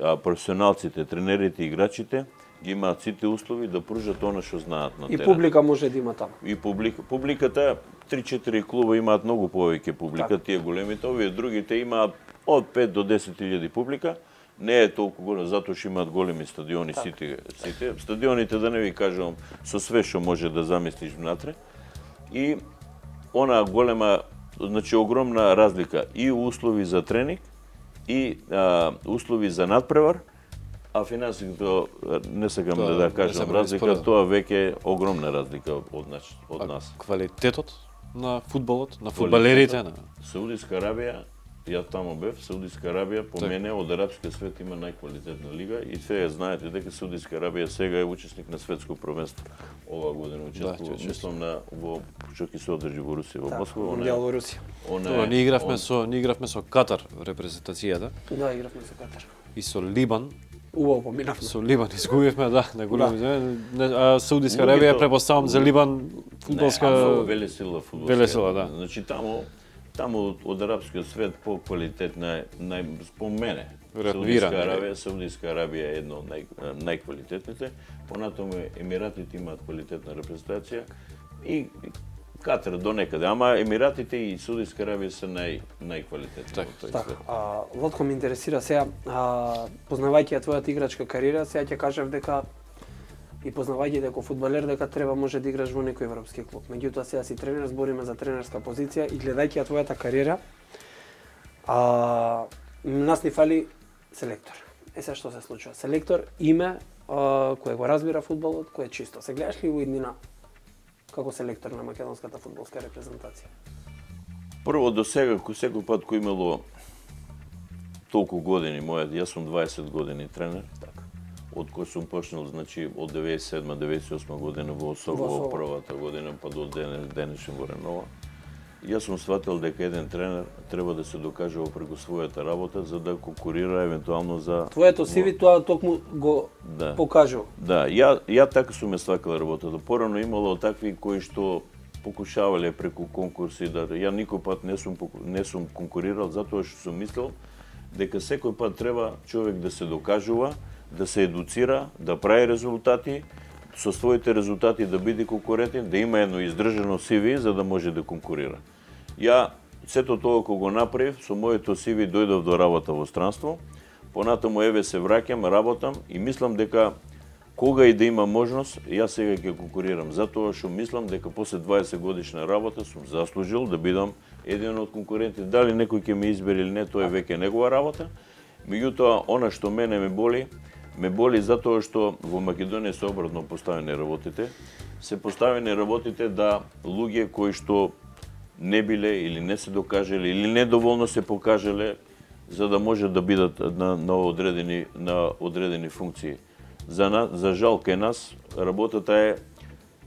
професионалците, тренерите, играчите ги имаат сите услови да пружат она што знаат на терен. И публика може да има таму. И публика, публиката три-четири клуба имаат многу повеќе публика, тие големите, овие другите имаат од пет до десет илјади публика. Не е толку голем затоа што имаат големи стадиони сите, сите. Стадионите, да не ви кажам, со све што може да замислиш внатре. И она голема, значи огромна разлика и услови за тренинг и а, услови за надпревар, а финансиското не сакам да, да кажам разлика, тоа веќе е огромна разлика од нас. Од нас. Квалитетот на фудбалот, на фудбалерите на Саудиска Арабија, ја таму бев, Саудиска Арабија по мене од арапскиот свет има најквалитетна лига и сега знаете дека Саудиска Арабија сега е учесник на светско првенство. Ова година учествува, да, мислам на во што ќе се одржи во Русија, во Москва, она е во Русија. Тоа ние игравме со ние игравме со Катар репрезентацијата. Да, игравме со Катар. И со Либан. Убаво поминавме. Со Либан изгубивме, да, на големи. Да. Саудиска Арабија препоставам за Либан фудбалска велесила фудбалска. Велесила, да. Значи таму таму од арапскиот свет по квалитетна е нај по мене. Саудиска Арабија, Саудиска Арабија е едно од нај, најквалитетните. Понатаму Емиратите имаат квалитетна репрезентација и Катар до некаде, ама Емиратите и Саудиска Арабија се нај најквалитетни во тој свет. А Лотко ме интересира сега, а, познавајќи ја твојата играчка кариера, сега ќе кажав дека и познавајќи дека фудбалер дека треба може да играш во некој европски клуб. Меѓутоа сега си тренер, збориме за тренерска позиција и гледајќи ја твојата кариера, а нас ни фали селектор. Е сега што се случува? Селектор име а, кој го разбира фудбалот, кој е чисто. Се гледаш ли во иднина како селектор на македонската фудбалска репрезентација? Прво до сега, секој пат кој имало толку години, мојат, јас сум дваесет години тренер, така. Од кој сум почнал, значи, од деветдесет и седма деветдесет и осма година во Осово, во првата година, па до денешен во Ренова. Јас сум сватил дека еден тренер треба да се докаже преку својата работа за да конкурира евентуално за твоето си ви тоа токму го да. покажува. Да, ја ја така сум ја свакал работата. Порано имало такви кои што покушавале преку конкурси да ја никој пат не сум не сум конкурирал затоа што сум мислел дека секој пат треба човек да се докажува, да се едуцира, да прави резултати, со своите резултати да биде конкурентен, да има едно издржано си ви за да може да конкурира. Ја сето тоа кога го направив, со моето си ви дојдов до работа во странство, понатаму еве се враќам, работам и мислам дека кога и да има можност, јас сега ќе конкурирам, затоа што мислам дека после дваесет годишна работа сум заслужил да бидам еден од конкурентите. Дали некој ќе ме избере или не, тоа е веќе негова работа. Меѓутоа, она што мене ме боли, ме боли затоа што во Македонија се обратно поставени работите. Се поставени работите да луѓе кои што не биле или не се докажале или недоволно се покажале за да може да бидат на, на одредени на одредени функции. За на, за жал кај нас работата е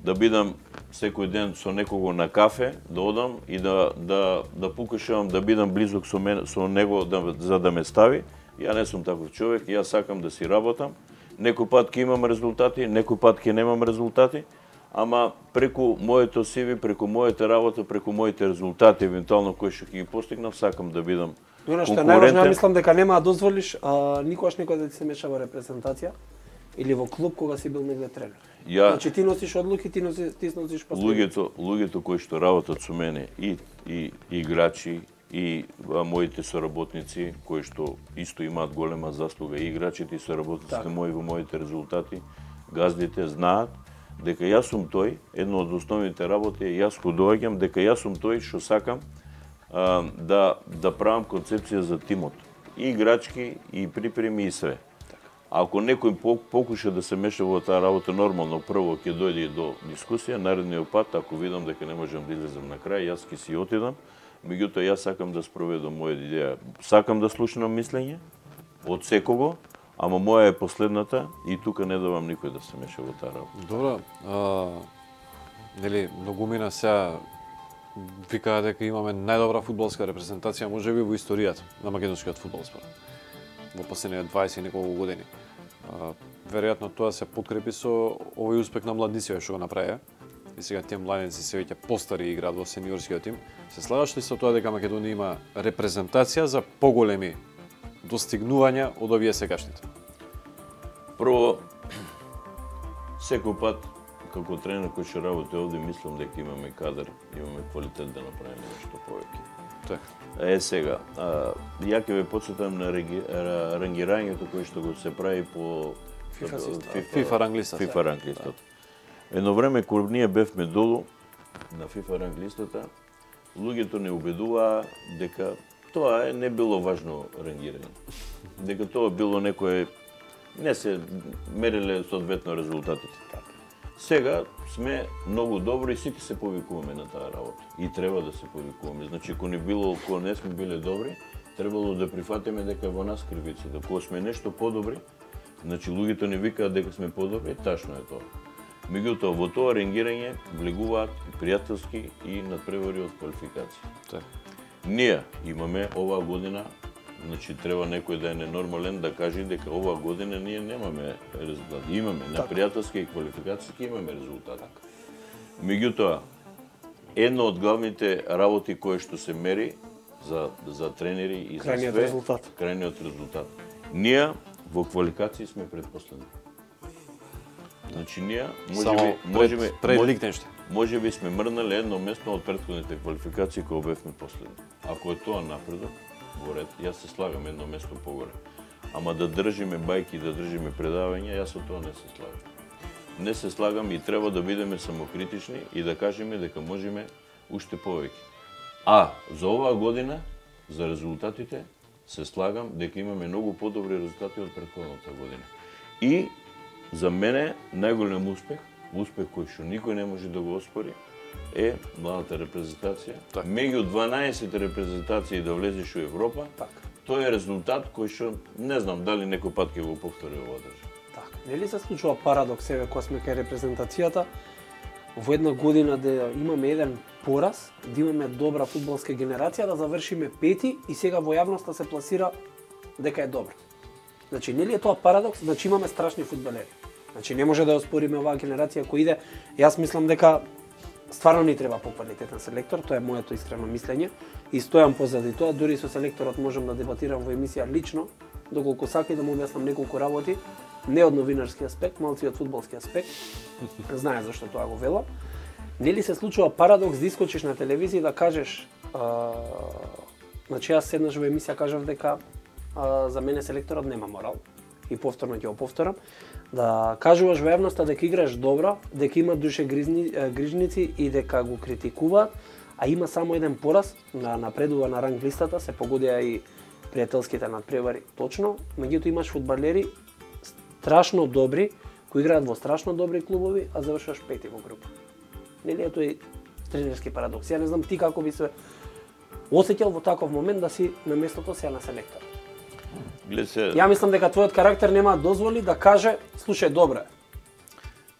да бидам секој ден со некого на кафе, да одам и да да да покушавам да бидам близок со мен, со него да, за да ме стави. Ја не сум таков човек, јас сакам да си работам. Некој пат ќе имам резултати, некој пат ќе немам резултати, ама преку моето си ви, преку мојата работа, преку моите резултати, евентуално кои што ќе ги постигнав, сакам да бидам конкурентен. Што е најважно, мислам дека нема да дозволиш а, никогаш некој да ти се меша во репрезентација или во клуб кога си бил негде тренер. Ја, значи ти носиш одлуки, ти носиш, ти носиш последици. Луѓето, луѓето кои што работат со мене и и, и играчи и а, моите соработници кои што исто имаат голема заслуга, и играчите и соработниците так. мои во моите резултати, газдите знаат дека јас сум тој, едно од основните работи е јас го доаѓам дека јас сум тој што сакам а, да да правам концепција за тимот, и играчки и припреми и све. Ако некој покуша да се меша во таа работа, нормално прво ќе дојде до дискусија, наредниот пат ако видам дека не можам да излезам на крај, јас ќе си отидам, Меѓутоа, јас сакам да спроведам моја идеја. Сакам да слушнам мислење од секого, ама моја е последната и тука не давам никој да се меша во таа работа. Добро, а, нели, многумина сега викаа дека имаме најдобра фудбалска репрезентација можеби во историјата на македонскиот фудбал според. Во последните дваесет и неколку години. А, веројатно тоа се подкрепи со овој успех на младиците што го направија. И сега тие младенци се веќе постари играат во сениорскиот тим. Се слагаш ли со тоа дека Македонија има репрезентација за поголеми достигнувања од овие сегашните? Прво, секој пат како тренер кој ќе работи овде, мислам дека имаме кадар, имаме квалитет да направиме нешто повеќе. Така. Е сега, а, ја ќе ве потсетам на рангирањето кое што го се прави по FIFA ранглистата. FIFA ранглистата. Едно време кога ние бевме долу на FIFA ранглистата, луѓето не убедуваа дека тоа е не било важно рангирање. Дека тоа било некое не се мереле соодветно резултатите. Сега сме многу добри и сите се повикуваме на таа работа. И треба да се повикуваме. Значи, ако не било, ако не сме биле добри, требало да прифатиме дека во нас кривицата. Кога сме нешто подобри, значи луѓето не викаат дека сме подобри, ташно е тоа. Меѓутоа, во тоа рангирање влегуваат и пријателски и надпревари од квалификација. Так. Ние имаме оваа година, значи треба некој да е ненормален да каже дека оваа година ние немаме резултати. Имаме на пријателски и квалификацијски имаме резултати. Меѓутоа, едно од главните работи кои што се мери за за тренери и за крајниот све, резултат. крајниот резултат. Ние во квалификации сме предпоследни. Значи ние можеби можеби пред Лихтенштајн. Можеби сме мрнале едно место од претходните квалификации кога бевме последни. Ако е тоа напредок, во ред, јас се слагам едно место погоре. Ама да држиме бајки, да држиме предавања, јас со тоа не се слагам. Не се слагам и треба да бидеме самокритични и да кажеме дека можеме уште повеќе. А за оваа година, за резултатите, се слагам дека имаме многу подобри резултати од претходната година. И за мене најголем успех, успех кој што никој не може да го оспори, е младата репрезентација. Так. Меѓу дванаесет репрезентации да влезеш во Европа, Так. тоа е резултат кој што не знам дали некој пат ќе го повтори оваа држава. Така. Нели се случува парадокс еве кога сме кај репрезентацијата, во една година да имаме еден пораз, да имаме добра фудбалска генерација, да завршиме пети и сега во јавноста се пласира дека е добра. Значи, нели е тоа парадокс? Значи имаме страшни фудбалери. Значи не може да ја оспориме оваа генерација која иде. Јас мислам дека стварно ни треба поквалитетен селектор, тоа е моето искрено мислење и стојам позади тоа, дури со селекторот можам да дебатирам во емисија лично, доколку сака и да му објаснам неколку работи, не од новинарски аспект, малци од фудбалски аспект. Знае зашто тоа го велам. Нели се случува парадокс да искочиш на телевизија и да кажеш, а, значи јас седнаш во емисија кажав дека а, за мене селекторот нема морал и повторно ќе го повторам, да кажуваш во јавноста дека играш добро, дека има душе грижни, грижници и дека го критикуваат, а има само еден пораз на напредува на ранг листата, се погодија и пријателските надпревари точно, меѓутоа имаш фудбалери страшно добри, кои играат во страшно добри клубови, а завршуваш пети во група. Нели е тој тренерски парадокс? Ја не знам ти како би се осеќал во таков момент да си на местото сега на селектор. Се... Ја мислам дека твојот карактер нема да дозволи да каже, слушај, добро е.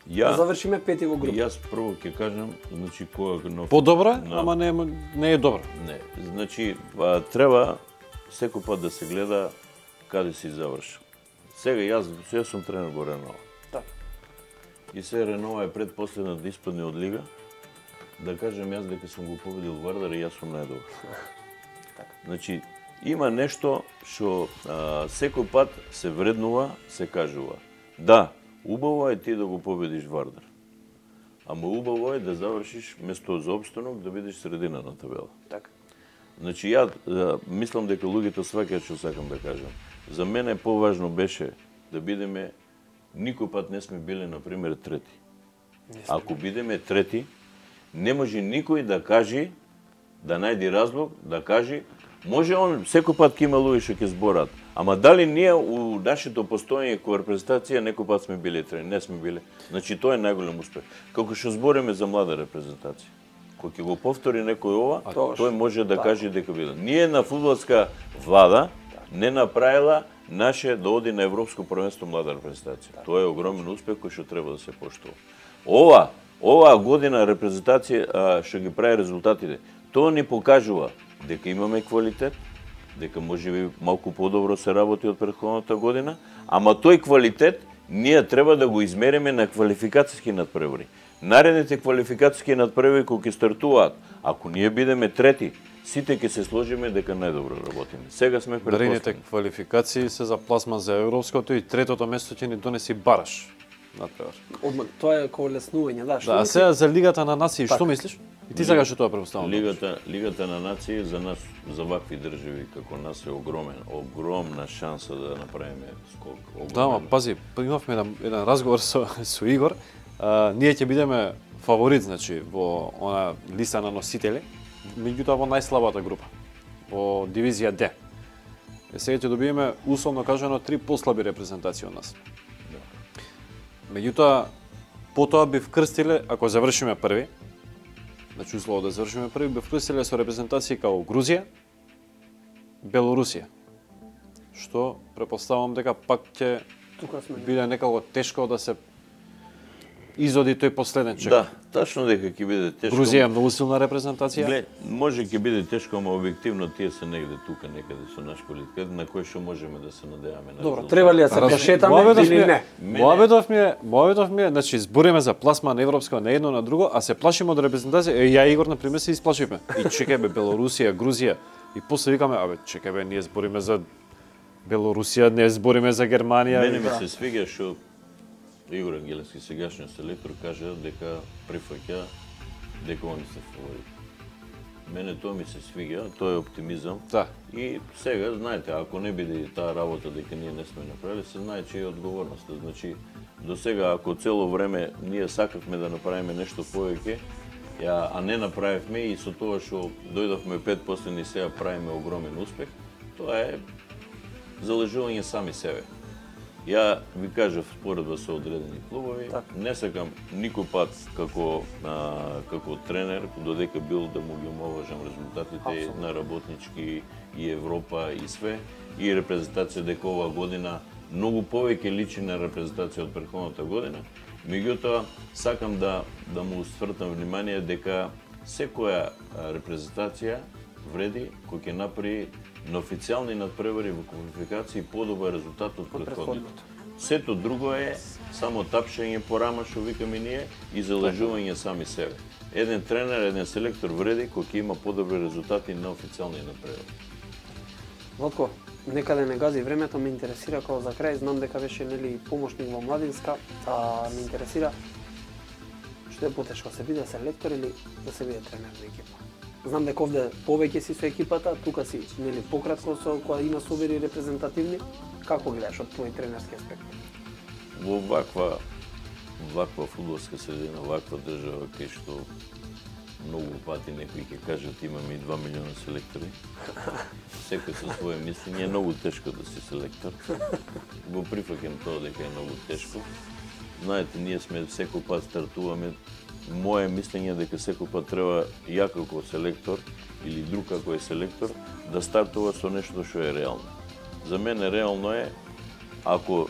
Ја да завршиме пети во група. Јас прво ќе кажам, значи кога нов... Подобро, на... ама не не е добро. Не, значи а, треба секој пат да се гледа каде си завршил. Сега јас се сум тренер во Ренова. Така. И се Ренова е предпоследна да испадне од лига. Да кажам јас дека сум го победил Вардар и јас сум најдобар. Така. Значи има нешто што секој пат се вреднува, се кажува. Да, убаво е ти да го победиш Вардар. Ама убаво е да завршиш место за опстанок, да бидеш средина на табела. Така. Значи ја мислам дека луѓето сваќаат што сакам да кажам. За мене поважно беше да бидеме, никој пат не сме биле на пример трети. Ако бидеме трети, не може никој да каже, да најди разлог, да каже, може он секој пат ќе има луѓе што ќе зборат, ама дали ние у нашето постоење кој репрезентација некој пат сме биле трени, не сме биле. Значи тоа е најголем успех. Како што збориме за млада репрезентација, ако ќе го повтори некој ова, Тогаш. тој може да Така. каже дека било. Ние на фудбалска влада не направила наше да оди на Европско првенство млада репрезентација. Тоа е огромен успех кој што треба да се поштува. Ова, оваа година репрезентација а, што ги прави резултатите, тоа ни покажува дека имаме квалитет, дека може би малку подобро се работи од претходната година, ама тој квалитет ние треба да го измериме на квалификацијски надпревари. Наредните квалификацијски надпревари кои ќе стартуваат, ако ние бидеме трети, сите ќе се сложиме дека најдобро работиме. Сега сме Наредните предпоставени. квалификации се за пласман за европското и третото место ќе ни донеси Бараш. Надпревар. Одма, тоа е како леснување, да. Да, а сега за Лигата на нации, што мислиш? И ти сакаш тоа препоставам. Лигата, Лигата на нации за нас, за вакви држави како нас е огромен, огромна шанса да направиме скок. Огромен. Да, ма пази, имавме еден, еден разговор со, со Игор. А, ние ќе бидеме фаворит, значи, во она листа на носители, меѓутоа во најслабата група, во дивизија Д. Е, сега ќе добиеме, условно кажано, три послаби репрезентации од нас. Меѓутоа, потоа би вкрстиле, ако завршиме први, значи услово да завршиме први, би вкрстиле со репрезентации као Грузија, Белорусија. Што препоставам дека пак ќе биде некако тешко да се изоди тој последен чек. Да, тачно дека ќе биде тешко. Грузија е многу силна репрезентација. Гле, може ќе биде тешко, ама објективно тие се негде тука некаде со наш квалитет на кој што можеме да се надеваме на. Добро, треба ли да се пошетаме или не? Мојаведов ми е, мојаведов ми е, значи збориме за пласман европска на едно на друго, а се плашиме од репрезентација. Е, ја Игор на пример се исплашивме. И чекај бе Белорусија, Грузија и после викаме, абе чекај бе, ние збориме за Белорусија, не збориме за Германија. Мене ми се свига што Игор Ангелевски, сегашниот селектор, кажа дека прифаќа дека они се фаворит. Мене тоа ми се свига, тоа е оптимизам. Да. И сега, знаете, ако не биде таа работа дека ние не сме направили, се знае че е одговорноста. Значи, до сега, ако цело време ние сакавме да направиме нешто повеќе, ја, а не направивме и со тоа што дојдовме пет последни сега правиме огромен успех, тоа е залежување сами себе. Ја ви кажав споредба со одредени клубови, так. Не сакам никој пат како а, како тренер, додека бил да му ги омалважам резултатите Абсолютно. На работнички и Европа и све, и репрезентација дека оваа година многу повеќе личи на репрезентација од претходната година. Меѓутоа, сакам да да му свртам внимание дека секоја репрезентација вреди кој ќе направи на официјални надпревари во квалификации подобар резултат од претходните. Сето друго е само тапшење по рама, што викаме ние, и залежување сами себе. Еден тренер, еден селектор вреди кој ќе има подобри резултати на официјални надпревари. Вотко, некаде не гази времето, ме интересира како за крај, знам дека беше нели помошник во младинска, а ме интересира што е потешко, се биде селектор или да се биде тренер на екипа? Знам дека овде повеќе си со екипата, тука си нели пократко со кога има собери репрезентативни. Како гледаш од твој тренерски аспект? Во ваква ваква фудбалска средина, ваква држава кај што многу пати некои ќе кажат имаме и два милиона селектори. Секој со свое мислење, е многу тешко да си селектор. Го прифаќам тоа дека е многу тешко. Знаете, ние сме секој пат стартуваме. Моje мислење е дека секој пат треба ја како селектор или друг како е селектор да стартува со нешто што е реално. За мене реално е ако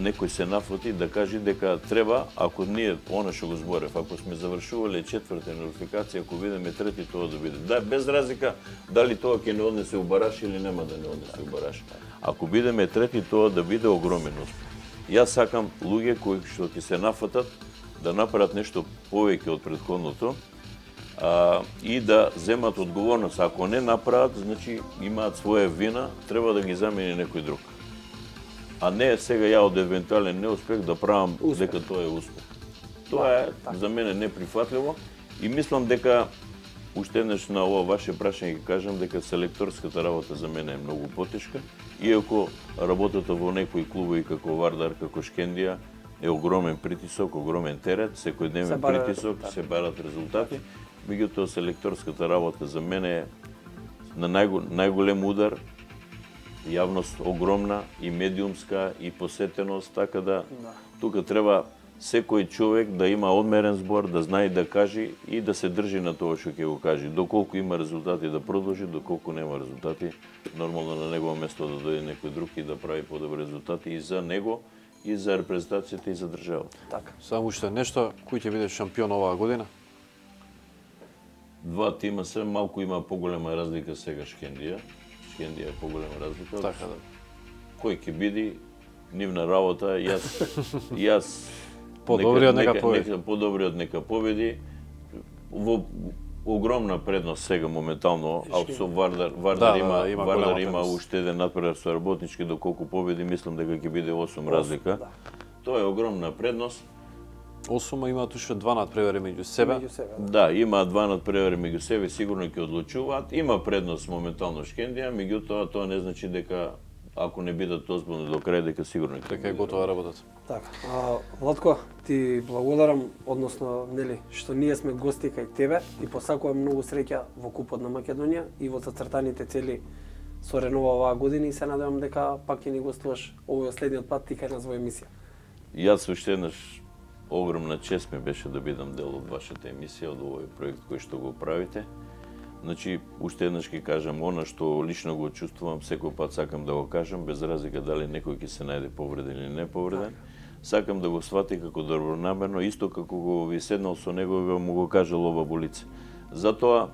некој се нафати да каже дека треба, ако ние она што го зборев, ако сме завршувале четврта квалификација, ако бидеме трети, тоа да биде. Да, без разлика дали тоа ќе не однесе у бараш или нема да не однесе у бараш. Ако бидеме трети, тоа да биде огромен успех. Јас сакам луѓе кои што ќе се нафатат да направат нешто повеќе од претходното а, и да земат одговорност. Ако не направат, значи имаат своја вина, треба да ги замени некој друг. А не сега ја од евентуален неуспех да правам успех. Дека тоа е успех. Тоа е так. За мене неприфатливо и мислам дека уште еднаш на ова ваше прашање ќе кажам дека селекторската работа за мене е многу потешка, иако работата во некои клубови како Вардар, како Шкендија е огромен притисок, огромен терет, секојдневен притисок, да. Се барат резултати, меѓутоа селекторската работа за мене е на најго, најголем удар, јавност огромна и медиумска и посетеност, така да, да. Тука треба секој човек да има одмерен збор, да знае да каже и да се држи на тоа што ќе го каже. Доколку има резултати да продолжи, доколку нема резултати, нормално на негово место да дојде некој друг и да прави подобри резултати и за него, и за репрезентацијата и за државата. Така. Само уште нешто, кој ќе биде шампион оваа година? Два тима се, малку има поголема разлика сега Шкендија. Шкендија е поголема разлика. Така да. Кој ќе биде нивна работа, јас јас подобриот нека, нека победи. Нека, подобриот нека победи. Во огромна предност сега моментално, а со Вардар, Вардар да, има, да, има Вардар има предност. уште еден надпревар со работнички, доколку победи, мислам дека ќе биде осум разлика. Да. Тоа е огромна предност. осум имаат уште два надпревари меѓу себе. Меѓу себе да. да, има два надпревари меѓу себе, сигурно ќе одлучуваат. Има предност моментално Шкендија, меѓутоа тоа не значи дека ако не бидат озбилни до крај, дека сигурно ќе дека е готова работата. Така. А, Владко, ти благодарам, односно, нели, што ние сме гости кај тебе и посакувам многу среќа во Купот на Македонија и во зацртаните цели со Ренова оваа година и се надевам дека пак ќе ни гостуваш овој следниот пат ти кај нас во емисија. Јас уште еднаш огромна чест ми беше да бидам дел од вашата емисија, од овој проект кој што го правите. Значи, уште еднаш ќе кажам, она што лично го чувствувам, секој пат сакам да го кажам, без разлика дали некој ќе се најде повреден или не повреден. Сакам да го свати како добронамерно, исто како го ви седнал со него и му го кажал ова во лице. Затоа,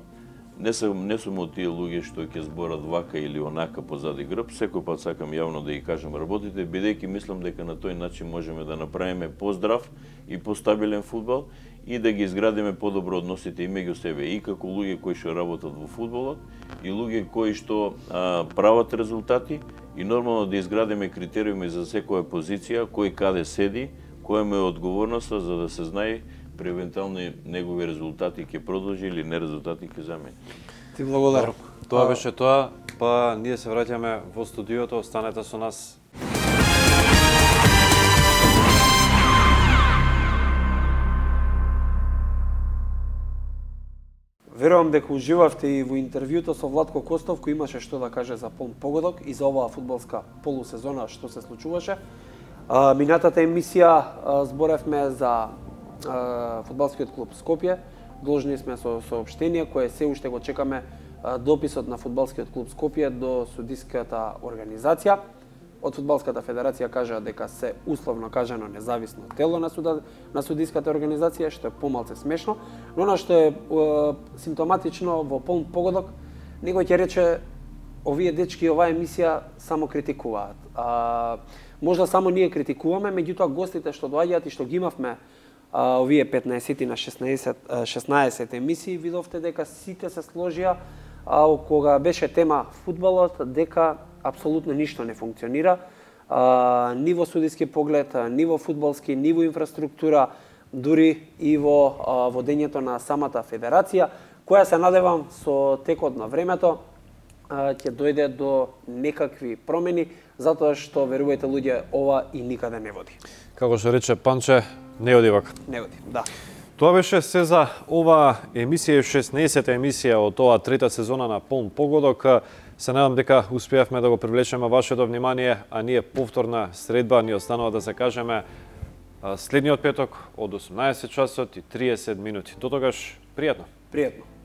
не сум, не сум од тие луѓе што ќе зборат вака или онака позади грб, секој пат сакам јавно да ги кажам работите, бидејќи мислам дека на тој начин можеме да направиме поздрав и постабилен фудбал и да ги изградиме подобро односите и меѓу себе, и како луѓе кои што работат во фудбалот, и луѓе кои што а, прават резултати, и нормално да изградиме критериуми за секоја позиција, кој каде седи, која му е одговорноста, за да се знае при евентуални негови резултати ќе продолжи или не резултати ќе замени. Ти благодарам. Тоа беше тоа, па ние се враќаме во студиото, останете со нас. Верувам дека уживавте и во интервјуто со Владко Костов, кој имаше што да каже за полн погодок и за оваа фудбалска полусезона што се случуваше. А, минатата емисија а, зборевме за а, фудбалскиот клуб Скопје. Должни сме со соопштение кое се уште го чекаме а, дописот на фудбалскиот клуб Скопје до судиската организација. Од Фудбалската федерација кажа дека се условно кажано независно тело на суда, на судиската организација, што е помалце смешно, но она што е, е симптоматично во полн погодок, некој ќе рече овие дечки оваа емисија само критикуваат. А, можда само ние критикуваме, меѓутоа гостите што доаѓаат и што ги имавме а, овие петнаесет на шеснаесет емисии, видовте дека сите се сложија а, кога беше тема фудбалот, дека апсолутно ништо не функционира, а, ни во судиски поглед, ни во фудбалски, ни во инфраструктура, дури и во а, водењето на самата федерација, која се надевам со текот на времето а, ќе дојде до некакви промени, затоа што, верувајте луѓе, ова и никаде не води. Како што рече Панче, не оди вака. Не оди, да. Тоа беше се за оваа емисија, шеснаесета емисија од оваа трета сезона на полн погодок. Се надам дека успеавме да го привлечеме вашето внимание, а ние повторна средба ни останува да се кажеме следниот петок од осумнаесет часот и триесет минути. До тогаш, пријатно. Пријатно.